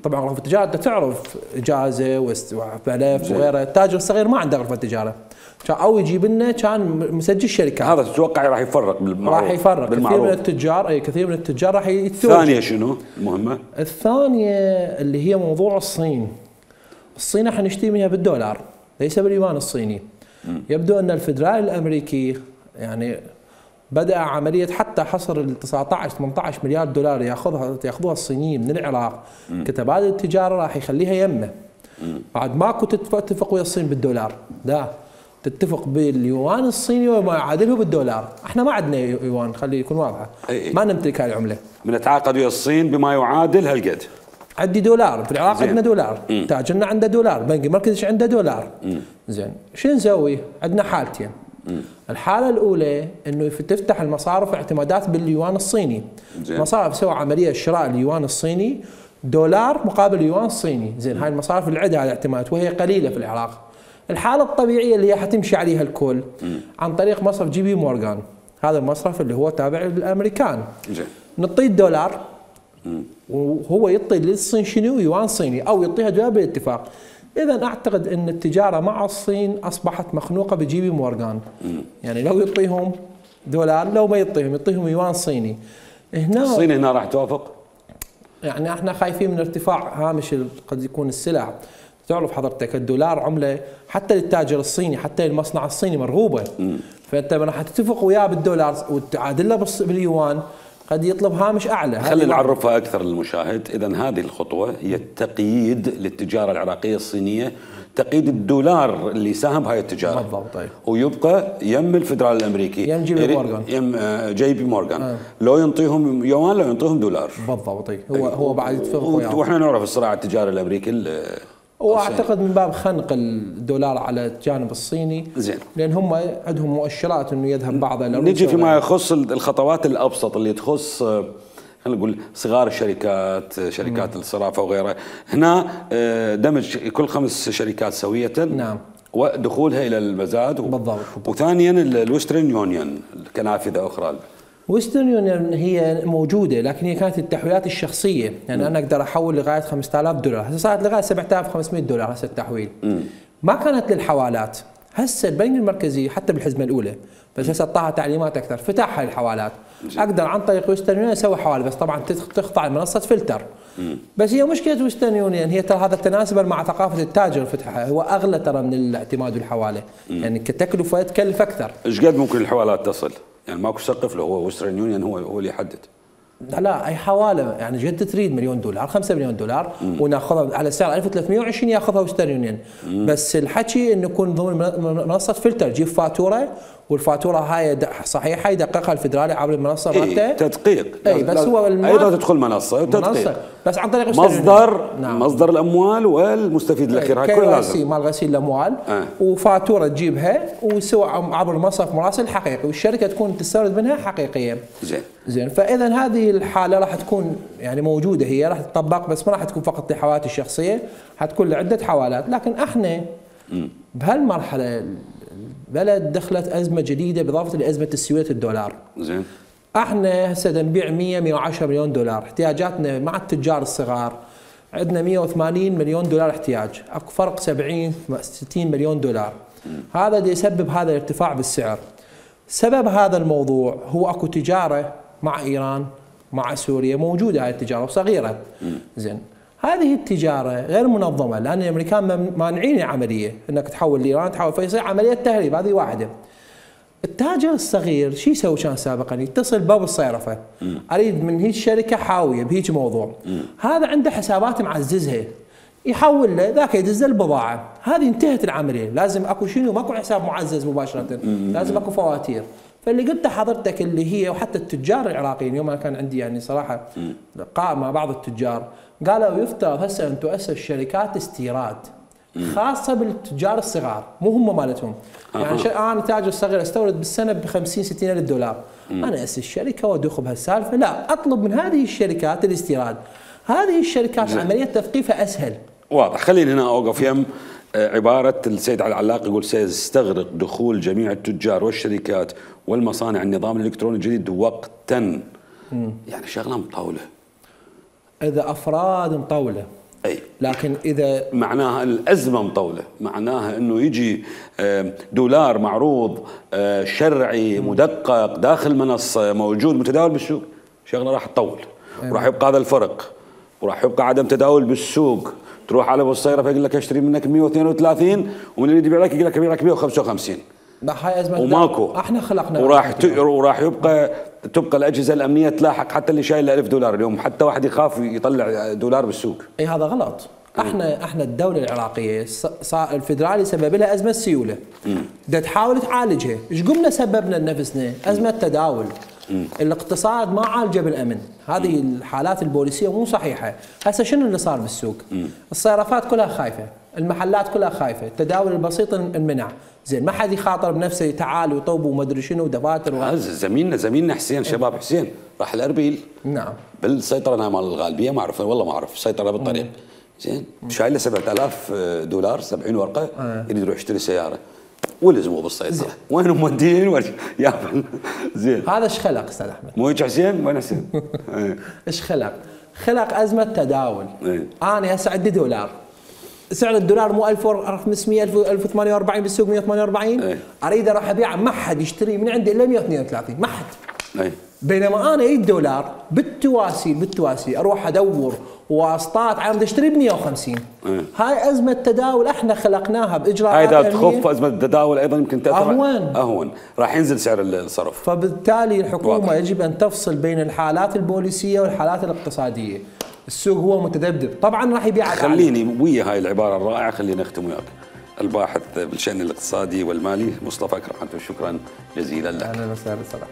طبعا غرفه التجاره انت تعرف اجازه وملف وغيره، التاجر الصغير ما عنده غرفه تجاره، او يجيب لنا كان مسجل شركات. هذا تتوقع راح يفرق بالمعروف؟ راح يفرق كثير من التجار، كثير من التجار راح يتوجه. الثانيه شنو المهمه؟ الثانيه اللي هي موضوع الصين. الصين احنا نشتري منها بالدولار ليس باليوان الصيني. يبدو ان الفدرالي الامريكي يعني بدأ عملية حتى حصر ال 19-18 مليار دولار ياخذوها الصينيين من العراق كتبادل تجارة راح يخليها يمه. بعد ماكو تتفق ويا الصين بالدولار، لا تتفق باليوان الصيني وما يعادله بالدولار. احنا ما عندنا يوان، خلي يكون واضحة، ما نمتلك هاي العملة. بنتعاقد ويا الصين بما يعادل هالقد. عندي دولار في العراق، عندنا دولار، تاجرنا عنده دولار، بنك المركزي عنده دولار. زين شو نسوي؟ عندنا حالتين. الحالة الأولى إنه تفتح المصارف اعتمادات باليوان الصيني. المصارف سوى عملية شراء اليوان الصيني دولار مقابل يوان صيني. زين هاي المصارف اللي عندها الاعتمادات وهي قليلة في العراق. الحالة الطبيعية اللي هي حتمشي عليها الكل عن طريق مصرف جي بي مورغان، هذا المصرف اللي هو تابع للأمريكان. نعطيه الدولار وهو يعطي للصين شنو؟ يوان صيني، أو يعطيها دولار بالاتفاق. إذا أعتقد أن التجارة مع الصين أصبحت مخنوقة بجي بي مورغان. يعني لو يعطيهم دولار، لو ما يعطيهم يوان صيني. هنا الصين هنا راح توافق؟ يعني احنا خايفين من ارتفاع هامش قد يكون السلع. تعرف حضرتك الدولار عملة حتى للتاجر الصيني، حتى للمصنع الصيني مرغوبة. فأنت راح تتفق وياه بالدولار وتعادله باليوان، قد يطلب هامش اعلى. خلينا نعرفها اكثر للمشاهد. اذا هذه الخطوه هي التقييد للتجاره العراقيه الصينيه، تقييد الدولار اللي ساهم بهاي التجاره بالضبط. طيب. ويبقى يم الفدرالي الامريكي، يم جي بي مورغان، يم جي بي مورغان. لو ينطيهم يوان لو ينطيهم دولار بالضبط. هو بعد يتفق وياه. واحنا نعرف الصراع التجاري الامريكي واعتقد من باب خنق الدولار على الجانب الصيني. زين. لان هم عندهم مؤشرات انه يذهب بعضها. نجي فيما يخص الخطوات الابسط اللي تخص خلينا نقول صغار الشركات، شركات الصرافه وغيرها. هنا دمج كل 5 شركات سويه. نعم. ودخولها الى المزاد بالضبط. وثانيا الويسترن يونيون كنافذه اخرى. ويسترن يونيون هي موجوده، لكن هي كانت التحويلات الشخصيه، يعني انا اقدر احول لغايه 5000 دولار، هسه صارت لغايه 7500 دولار هسه التحويل. ما كانت للحوالات. هسه البنك المركزي حتى بالحزمه الاولى، بس هسه اعطاها تعليمات اكثر، فتحها للحوالات. اقدر عن طريق ويسترن يونيون اسوي حواله، بس طبعا تخضع لمنصه فلتر. بس هي مشكله ويسترن يونيون هي ترى هذا تناسبا مع ثقافه التاجر فتحها، هو اغلى ترى من الاعتماد والحواله، يعني كتكلفه تكلف اكثر. ايش قد ممكن الحوالات تصل؟ يعني ماكو سقف له، هو ويسترن يونيون هو اللي يحدد. لا اي حواله يعني جد تريد $1 مليون 5 مليون دولار وناخذها على سعر 1320 ياخذها ويسترن يونيون. بس الحكي انه يكون ضمن منصه فلتر، جيب فاتوره والفاتوره هاي صحيحه يدققها الفدرالي عبر المنصه مالته. تدقيق. اي بس هو ايضا تدخل منصه وتدقيق بس عن طريق مصدر الاموال والمستفيد الاخير، هاي كلها لازم مال غسيل الاموال. وفاتوره تجيبها وسوى عبر مصرف مراسل حقيقي، والشركه تكون تستورد منها حقيقيه. زين فاذا هذه الحاله راح تكون يعني موجوده، هي راح تطبق، بس ما راح تكون فقط لحوالات الشخصيه، حتكون لعده حوالات. لكن احنا بهالمرحله البلد دخلت ازمه جديده باضافه لازمه تسويه الدولار. زين احنا هسه نبيع 110 مليون دولار، احتياجاتنا مع التجار الصغار عندنا 180 مليون دولار احتياج، اكو فرق 60 مليون دولار. هذا اللي يسبب هذا الارتفاع بالسعر. سبب هذا الموضوع هو اكو تجاره مع ايران مع سوريا موجوده، هاي التجاره وصغيره. زين هذه التجاره غير منظمه، لان الامريكان مانعين العمليه انك تحول لايران تحول، فيصير عمليه تهريب. هذه واحده. التاجر الصغير شو يسوي كان سابقا؟ يتصل باب الصيرفه، اريد من هيك شركه حاويه بهيك موضوع. هذا عنده حسابات معززها، يحول له ذاك يدز البضاعه، هذه انتهت العمليه. لازم اكو شنو؟ ماكو حساب معزز مباشره، لازم اكو فواتير. فاللي قلته حضرتك اللي هي، وحتى التجار العراقيين يوم انا كان عندي يعني صراحه لقاء مع بعض التجار، قالوا يفترض هسه ان تؤسس شركات استيراد خاصه بالتجار الصغار، مو هم مالتهم. يعني انا تاجر صغير استورد بالسنه ب 50 60 الف دولار، انا اسس شركه وادخل بهالسالفه؟ لا، اطلب من هذه الشركات الاستيراد. هذه الشركات عمليه تثقيفها اسهل. واضح. خليني هنا اوقف يم عباره السيد علي العلاق، يقول سيستغرق دخول جميع التجار والشركات والمصانع النظام الالكتروني الجديد وقتا. يعني شغله مطوله. اذا افراد مطوله، اي، لكن اذا معناها الازمه مطوله، معناها انه يجي دولار معروض شرعي مدقق داخل منصه موجود متداول بالسوق، شغله راح تطول. وراح يبقى هذا الفرق، وراح يبقى عدم تداول بالسوق. تروح على ابو الصيره فيقول لك اشتري منك 132، ومن اللي يبيع لك يقول لك ابيع لك 155. هاي ازمه وماكو. احنا خلقنا. وراح تبقى الاجهزه الامنيه تلاحق حتى اللي شايل 1000 دولار اليوم، حتى واحد يخاف يطلع دولار بالسوق. اي هذا غلط. احنا الدوله العراقيه الفدرالي سبب لها ازمه سيوله. بدها تحاول تعالجها، ايش قمنا سببنا لنفسنا؟ ازمه تداول. الاقتصاد ما عالجه بالامن، هذه الحالات البوليسيه مو صحيحه. هسه شنو اللي صار بالسوق؟ الصيرفات كلها خايفه، المحلات كلها خايفه، التداول البسيط انمنع. زين، ما حد يخاطر بنفسه تعال وطوب وما ادري شنو ودفاتر زميلنا حسين، شباب حسين راح الاربيل. نعم. بالسيطره مال الغالبيه، ما اعرف والله، ما اعرف سيطره بالطريق. زين، شايل له 7000 دولار 70 ورقه، يريد يروح يشتري سياره ولزموا بالسيطره. وينهم مودين يا زين. هذا ايش خلق استاذ احمد؟ مو هيك حسين؟ وين حسين؟ ايش خلق؟ خلق ازمه تداول. انا هسه عندي دولار، سعر الدولار مو 1500 1048 بالسوق 148، اريد اروح ابيعه، ما حد يشتري من عندي الا 132، ما حد. بينما انا اجيب دولار بالتواسي اروح ادور واسطات عم اشتري ب 150. هاي ازمه تداول احنا خلقناها باجراءات. هاي اذا تخف ازمه التداول ايضا يمكن تاثر اهون، راح ينزل سعر الصرف. فبالتالي الحكومه يجب ان تفصل بين الحالات البوليسيه والحالات الاقتصاديه. السوق هو متذبذب، طبعا راح يبيع. خليني ويا هاي العباره الرائعه، خلينا نختم وياك. الباحث بالشان الاقتصادي والمالي مصطفى كرم، شكرا جزيلا لك. اهلا وسهلا صراحه.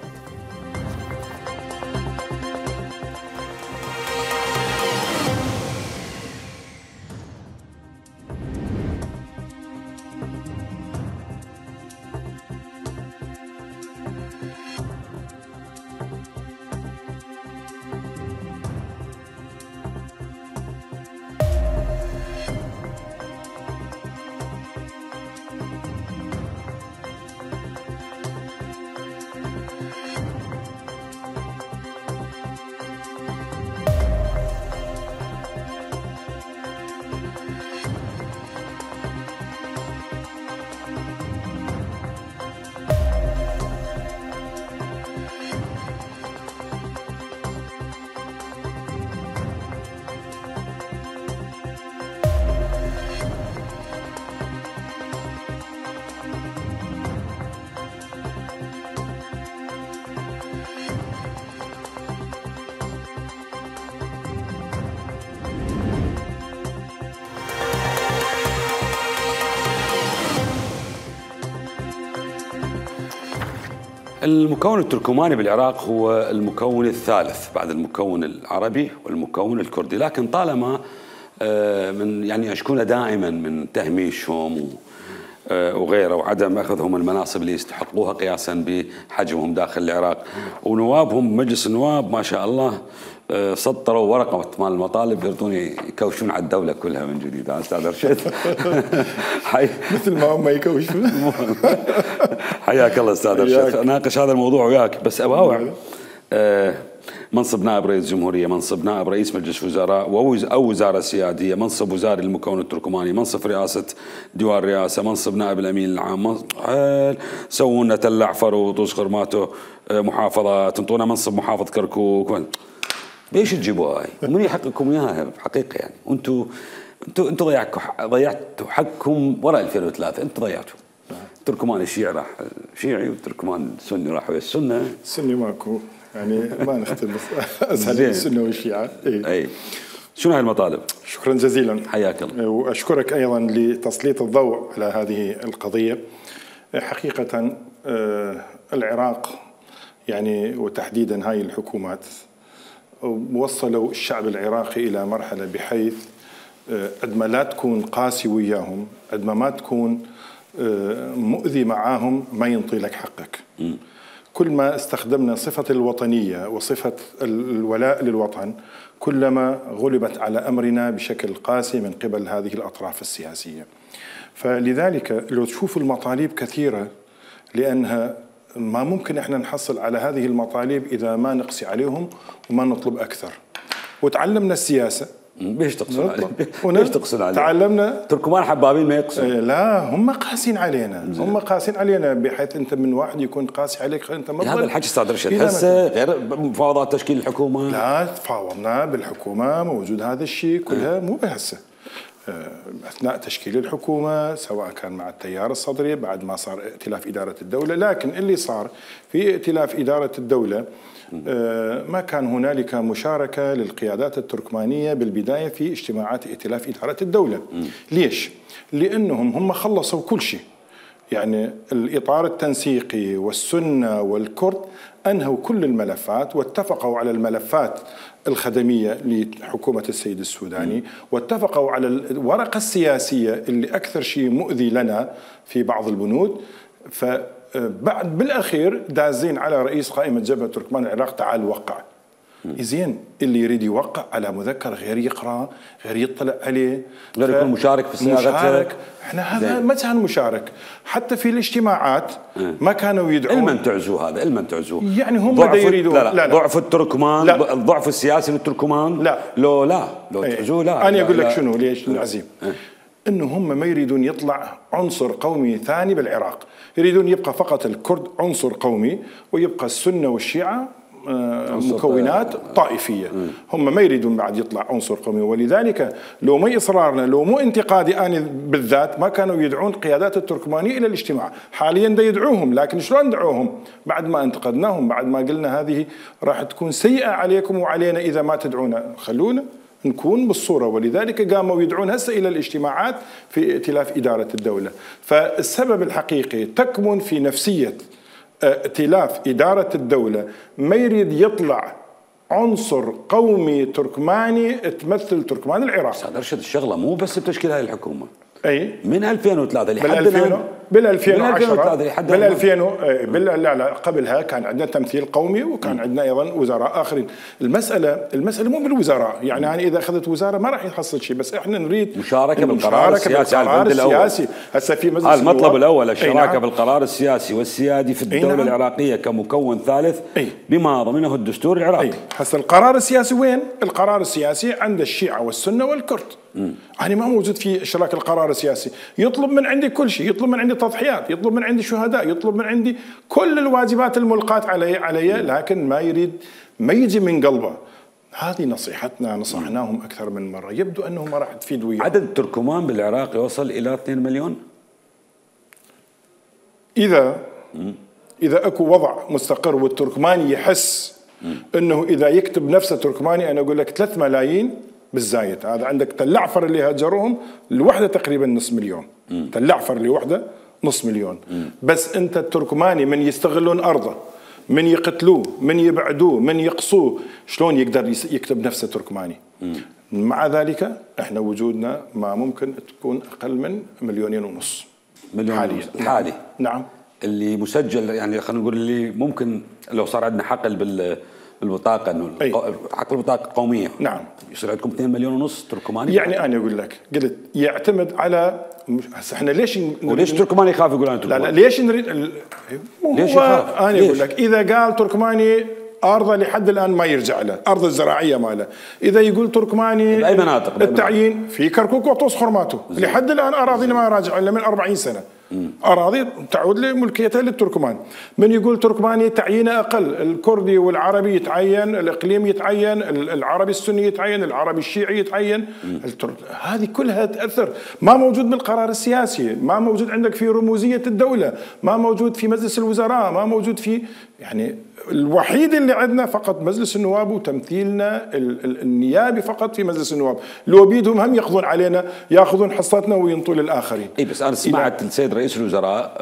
المكون التركماني بالعراق هو المكون الثالث بعد المكون العربي والمكون الكردي، لكن طالما من يعني أشكون دائما من تهميشهم وغيره وعدم أخذهم المناصب اللي يستحقوها قياسا بحجمهم داخل العراق، ونوابهم مجلس النواب ما شاء الله سطروا ورقة مال المطالب يريدون يكوشون على الدولة كلها من جديد. أستاذ رشيد مثل ما هم يكوشون. حياك الله أستاذ رشيد، أناقش هذا الموضوع وياك، بس أباوع منصب نائب رئيس جمهورية، منصب نائب رئيس مجلس وزراء أو وزارة سيادية، منصب وزاري للمكون التركماني، منصب رئاسة ديوان رئاسة، منصب نائب الأمين العام، سوونا تل عفر وطوس خرماته محافظات، انطونا منصب محافظ كركوك، ليش تجيبوها هاي؟ ومن يحقكم اياها بحقيقه يعني؟ انتم ضيعتوا حقكم وراء 2003، انتم ضيعتوا. التركمان الشيعي راح شيعي والتركمان السني راح ويا السنه. السني ماكو يعني ما نختلف اسهل السنه والشيعه. اي شنو هاي المطالب؟ شكرا جزيلا، حياك الله. واشكرك ايضا لتسليط الضوء على هذه القضيه. حقيقه العراق يعني وتحديدا هاي الحكومات وصلوا الشعب العراقي الى مرحله بحيث عندما لا تكون قاسي وياهم، عندما ما تكون مؤذي معاهم، ما ينطي لك حقك. كل ما استخدمنا صفة الوطنية وصفة الولاء للوطن كلما غلبت على أمرنا بشكل قاسي من قبل هذه الأطراف السياسية. فلذلك لو تشوفوا المطالب كثيرة، لأنها ما ممكن احنا نحصل على هذه المطالب إذا ما نقسي عليهم وما نطلب أكثر. وتعلمنا السياسة. ليش تقصون عليه؟ ليش تقصون عليه؟ تعلمنا. تركمان حبابين ما يقصون. لا، هم قاسين علينا، هم قاسين علينا بحيث انت من واحد يكون قاسي عليك انت ما هذا الحكي استاذ رشيد. هسه غير مفاوضات تشكيل الحكومه. لا، تفاوضنا بالحكومه، موجود هذا الشيء كلها مو بهسه. اثناء تشكيل الحكومه سواء كان مع التيار الصدري بعد ما صار ائتلاف اداره الدوله، لكن اللي صار في ائتلاف اداره الدوله ما كان هنالك مشاركة للقيادات التركمانية بالبداية في اجتماعات ائتلاف إدارة الدولة. ليش؟ لأنهم هم خلصوا كل شيء، يعني الإطار التنسيقي والسنة والكرد أنهوا كل الملفات واتفقوا على الملفات الخدمية لحكومة السيد السوداني، واتفقوا على الورقة السياسية اللي أكثر شيء مؤذي لنا في بعض البنود. بعد بالاخير دازين على رئيس قائمه جبهه تركمان العراق، تعال وقع. زين، اللي يريد يوقع على مذكر غير يقرا، غير يطلع عليه، غير يكون مشارك في صياغته. احنا هذا ما كان مشارك حتى في الاجتماعات. ما كانوا يدعون. المن تعزوه هذا، المن تعزوه يعني هم يريدون. لا ضعف التركمان، الضعف السياسي للتركمان. لا لو تعزوه لا. انا اقول لك شنو ليش العزيم. انه هم ما يريدون يطلع عنصر قومي ثاني بالعراق، يريدون يبقى فقط الكرد عنصر قومي ويبقى السنة والشيعة مكونات طائفية. هم ما يريدون بعد يطلع عنصر قومي، ولذلك لو ما إصرارنا، لو مو انتقادي أنا بالذات، ما كانوا يدعون قيادات التركمانية إلى الاجتماع. حاليا دا يدعوهم، لكن شلون دعوهم؟ بعد ما انتقدناهم، بعد ما قلنا هذه راح تكون سيئة عليكم وعلينا إذا ما تدعونا، خلونا نكون بالصورة. ولذلك قاموا يدعون هسه إلى الاجتماعات في ائتلاف إدارة الدولة. فالسبب الحقيقي تكمن في نفسية ائتلاف إدارة الدولة، ما يريد يطلع عنصر قومي تركماني تمثل تركمان العراق. استاذ رشد، الشغلة مو بس بتشكيل هاي الحكومة. اي من 2003 لحد بال 2010 لا قبلها كان عندنا تمثيل قومي، وكان عندنا ايضا وزراء اخرين. المساله مو بالوزراء، يعني انا اذا اخذت وزاره ما راح يحصل شيء، بس احنا نريد مشاركه بالقرار السياسي. هسه في مجلس المطلب الاول الشراكه بالقرار السياسي والسيادي في الدوله العراقيه كمكون ثالث بما ضمنه الدستور العراقي. هسه القرار السياسي وين؟ القرار السياسي عند الشيعه والسنه والكرد. يعني ما موجود في اشراك القرار السياسي. يطلب من عندي كل شيء، يطلب من عندي تضحيات، يطلب من عندي شهداء، يطلب من عندي كل الواجبات الملقاة علي، لكن ما يريد، ما يجي من قلبه. هذه نصيحتنا، نصحناهم أكثر من مرة، يبدو أنه ما راح تفيد وياهم. عدد التركمان بالعراق يوصل إلى 2 مليون. إذا أكو وضع مستقر والتركماني يحس أنه إذا يكتب نفسه تركماني، أنا أقول لك 3 ملايين بالزايد. هذا عندك تل عفر اللي هاجروهم الوحده تقريبا نص مليون. تل عفر اللي وحده نص مليون. بس انت التركماني من يستغلون ارضه، من يقتلوه، من يبعدوه، من يقصوه، شلون يقدر يكتب نفسه تركماني؟ مع ذلك احنا وجودنا ما ممكن تكون اقل من 1.5 مليون حاليا. حالي. نعم. اللي مسجل، يعني خلينا نقول اللي ممكن لو صار عندنا حقل بالبطاقه، انه حق البطاقه القوميه. نعم. يصير عندكم 2.5 مليون تركماني. يعني انا اقول لك، قلت يعتمد على هسه احنا ليش تركماني يخاف يقول انا تركماني؟ لا ليش نريد ليش يخاف؟ انا اقول لك اذا قال تركماني ارضه لحد الان ما يرجع له، ارض الزراعيه ماله. اذا يقول تركماني باي مناطق؟ التعيين في كركوك وطوس خرماته، لحد الان اراضينا ما راجع الا من 40 سنه. أراضي تعود لملكيتها للتركمان. من يقول تركماني تعيينه أقل، الكردي والعربي يتعين، الإقليم يتعين، العربي السني يتعين، العربي الشيعي يتعين. هذه كلها تأثر. ما موجود بالقرار السياسي، ما موجود عندك في رموزية الدولة، ما موجود في مجلس الوزراء، ما موجود في، يعني الوحيد اللي عندنا فقط مجلس النواب وتمثيلنا النيابي فقط في مجلس النواب. لو بيدهم هم ياخذون علينا، ياخذون حصتنا وينطوا للاخرين. اي بس انا سمعت السيد رئيس الوزراء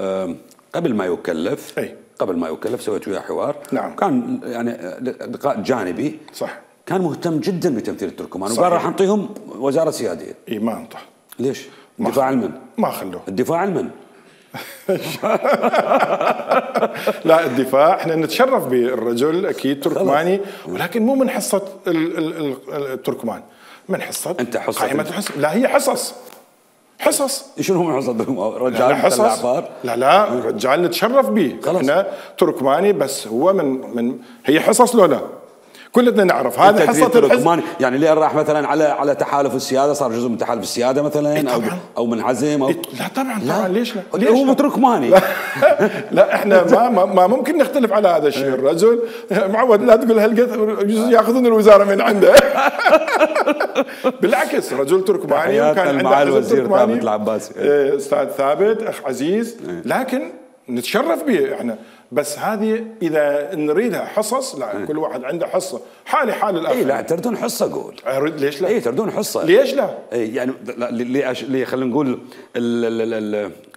قبل ما يكلف، قبل ما يكلف سويت وياه حوار. نعم. كان يعني لقاء جانبي. صح. كان مهتم جدا بتمثيل التركمان، وقال راح نعطيهم وزاره سياديه. اي ما انطى. ليش؟ الدفاع عن من؟ ما خلوه. الدفاع عن من؟ لا الدفاع احنا نتشرف بالرجل اكيد تركماني، ولكن مو من حصه التركمان، من حصه انت حصه قائمه الحصص. لا هي حصص شنو من حصه رجال حصص؟ لا رجال نتشرف به احنا تركماني، بس هو من هي حصص لو لا كلنا نعرف هذا حصه التركماني. يعني اللي راح مثلا على تحالف السياده صار جزء من تحالف السياده مثلا او منعزم لا طبعا ليش لا؟ هو تركماني. لا احنا ما ممكن نختلف على هذا الشيء. الرجل معود لا تقول هالقد ياخذون الوزاره من عنده. بالعكس رجل تركماني وكان عنده الوزير ثابت العباسي، استاذ ثابت اخ عزيز، لكن نتشرف به احنا. بس هذه اذا نريدها حصص، لا كل واحد عنده حصه، حالي حال الاخر. اي لا تردون حصه قول. ليش لا؟ اي تردون حصه. ليش لا؟ اي يعني ليه خلينا نقول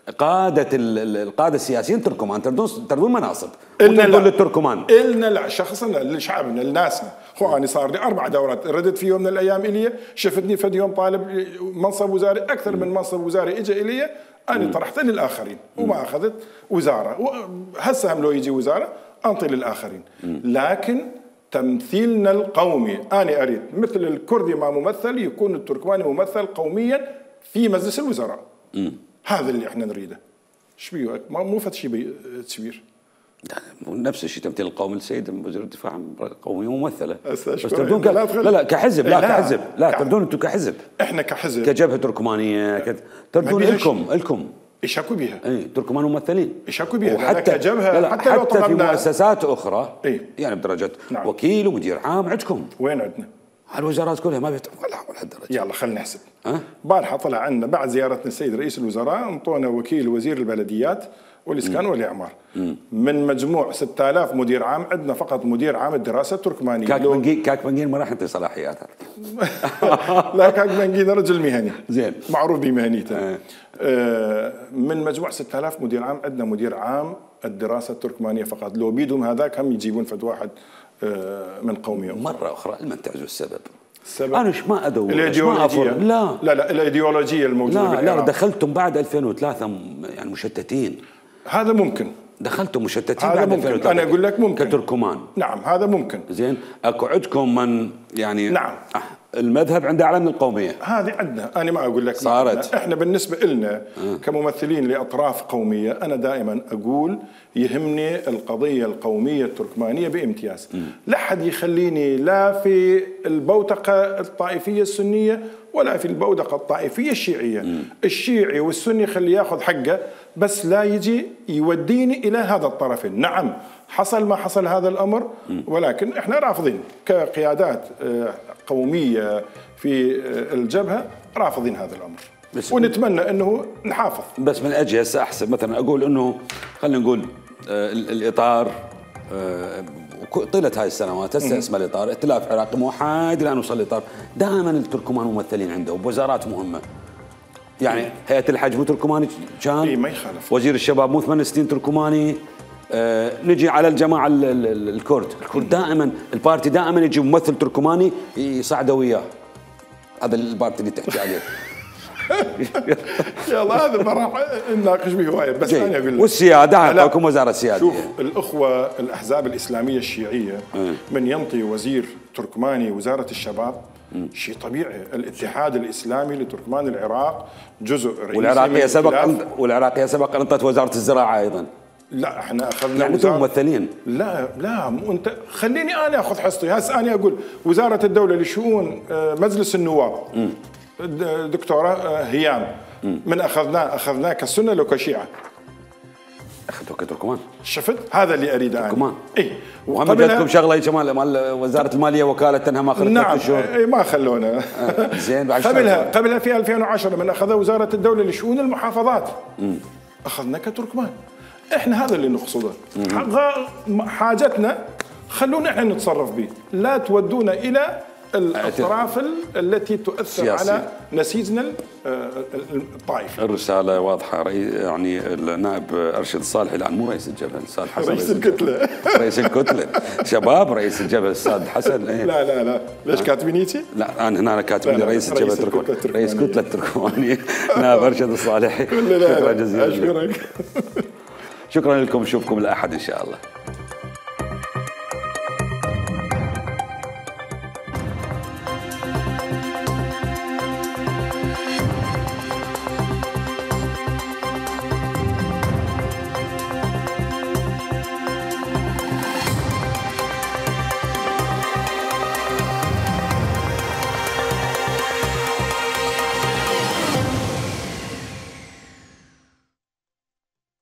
القاده السياسيين تركمان تردون مناصب وتردون للتركمان. إلنا لا شخصنا لشعبنا لناسنا. اخواني صار لي 4 دورات ردت في يوم من الايام الي، شفتني فد يوم طالب منصب وزاري اكثر من منصب وزاري اجى الي، أنا طرحت للآخرين وما أخذت وزارة. هسه هم لو يجي وزارة أنطي للآخرين. لكن تمثيلنا القومي أنا أريد مثل الكردي ما ممثل يكون التركماني ممثل قوميا في مجلس الوزراء. هذا اللي احنا نريده. شبيه مو فد شيء تشبير. نفس الشيء تمثيل القومي السيد وزير الدفاع قومية ممثلة. بس تردون لا كحزب، لا كحزب، لا تردون انتم كحزب. احنا كحزب كجبهة تركمانية تردون لكم يشكوا بها. اي تركمان ممثلين يشكوا بها. وحتى كجبهة حتى في مؤسسات اخرى يعني بدرجة وكيل ومدير عام عندكم. وين عندنا؟ الوزارات كلها ما ولا هالدرجة. يلا خلينا نحسب. بارحة طلع عندنا بعد زيارتنا السيد رئيس الوزراء انطونا وكيل وزير البلديات والإسكان والإعمار. من مجموع 6000 مدير عام عندنا فقط مدير عام الدراسة التركمانية. كاك بنجين ما راح يعطي صلاحيات. لا كاك بنجين رجل مهني زين معروف بمهنيته. من مجموع 6000 مدير عام عندنا مدير عام الدراسة التركمانية فقط. لو بيدهم هذاك هم يجيبون فد واحد من قومية مرة أخرى المنتعز السبب. السبب أنا ما أدور الإيديولوجية. لا الإيديولوجية الموجودة لا دخلتم بعد 2003 يعني مشتتين. هذا ممكن دخلتم مشتتين بعد 2003. أنا أقول لك ممكن كتركمان. نعم هذا ممكن. زين أكو عندكم من يعني نعم المذهب عنده أعلى من القومية. هذه عندنا. أنا ما أقول لك صارت. إحنا بالنسبة لنا كممثلين لأطراف قومية أنا دائما أقول يهمني القضية القومية التركمانية بامتياز. لا حد يخليني لا في البوتقة الطائفية السنية ولا في البوتقة الطائفية الشيعية. الشيعي والسني خليه ياخذ حقه، بس لا يجي يوديني إلى هذا الطرفين. نعم حصل ما حصل هذا الأمر، ولكن إحنا رافضين كقيادات قومية في الجبهة، رافضين هذا الأمر ونتمنى أنه نحافظ. بس من أجي هسه أحسب مثلا أقول أنه خلينا نقول الإطار طيلة هاي السنوات هسه اسمه الإطار ائتلاف عراقي موحد الآن وصل الإطار. دائما التركمان ممثلين عنده وبوزارات مهمة. يعني هيئة الحج مو تركماني كان؟ ما يخالف. وزير الشباب مو 8 سنين تركماني. نجي على الجماعة الكرد دائما البارتي دائما يجي ممثل تركماني يصعده وياه. هذا البارتي اللي تحكي عليه. يلا هذا ما راح نناقش به هوايه، بس انا اقول لك والسياده عندكم وزاره سياديه. شوف الاخوه الاحزاب الاسلاميه الشيعيه من ينطي وزير تركماني وزاره الشباب شيء طبيعي. الاتحاد الاسلامي لتركمان العراق جزء رئيسي والعراقيه سبق انطت وزاره الزراعه ايضا. لا احنا اخذنا يعني انتم ممثلين. لا مو انت خليني انا اخذ حصتي. هسه انا اقول وزاره الدوله لشؤون مجلس النواب دكتوره هيام من اخذناه كسنه لو كشيعه. اخذتوا كتركمان. شفت هذا اللي اريده انا. تركمان. اي وهم جاتكم شغله شمال مال وزاره الماليه وكاله انها ما اخذت. نعم ما خلونا. زين بعد قبلها في 2010 من اخذ وزاره الدوله لشؤون المحافظات اخذنا كتركمان. احنا هذا اللي نقصده. حاجتنا خلونا احنا نتصرف به، لا تودونا الى الأطراف التي تؤثر سياسي على نسيجنا الطائفي. الرسالة واضحة. يعني النائب أرشد الصالحي، الآن مو رئيس الجبهة، الأستاذ حسن رئيس الكتلة. رئيس الكتلة شباب رئيس الجبهة الأستاذ حسن. لا ليش كاتبين هيك؟ لا أنا هنا كاتبين رئيس الجبهة التركمانية، رئيس كتلة التركمانية نائب أرشد الصالحي. شكرا جزيلا. أشكرك. شكرا لكم، نشوفكم الأحد إن شاء الله.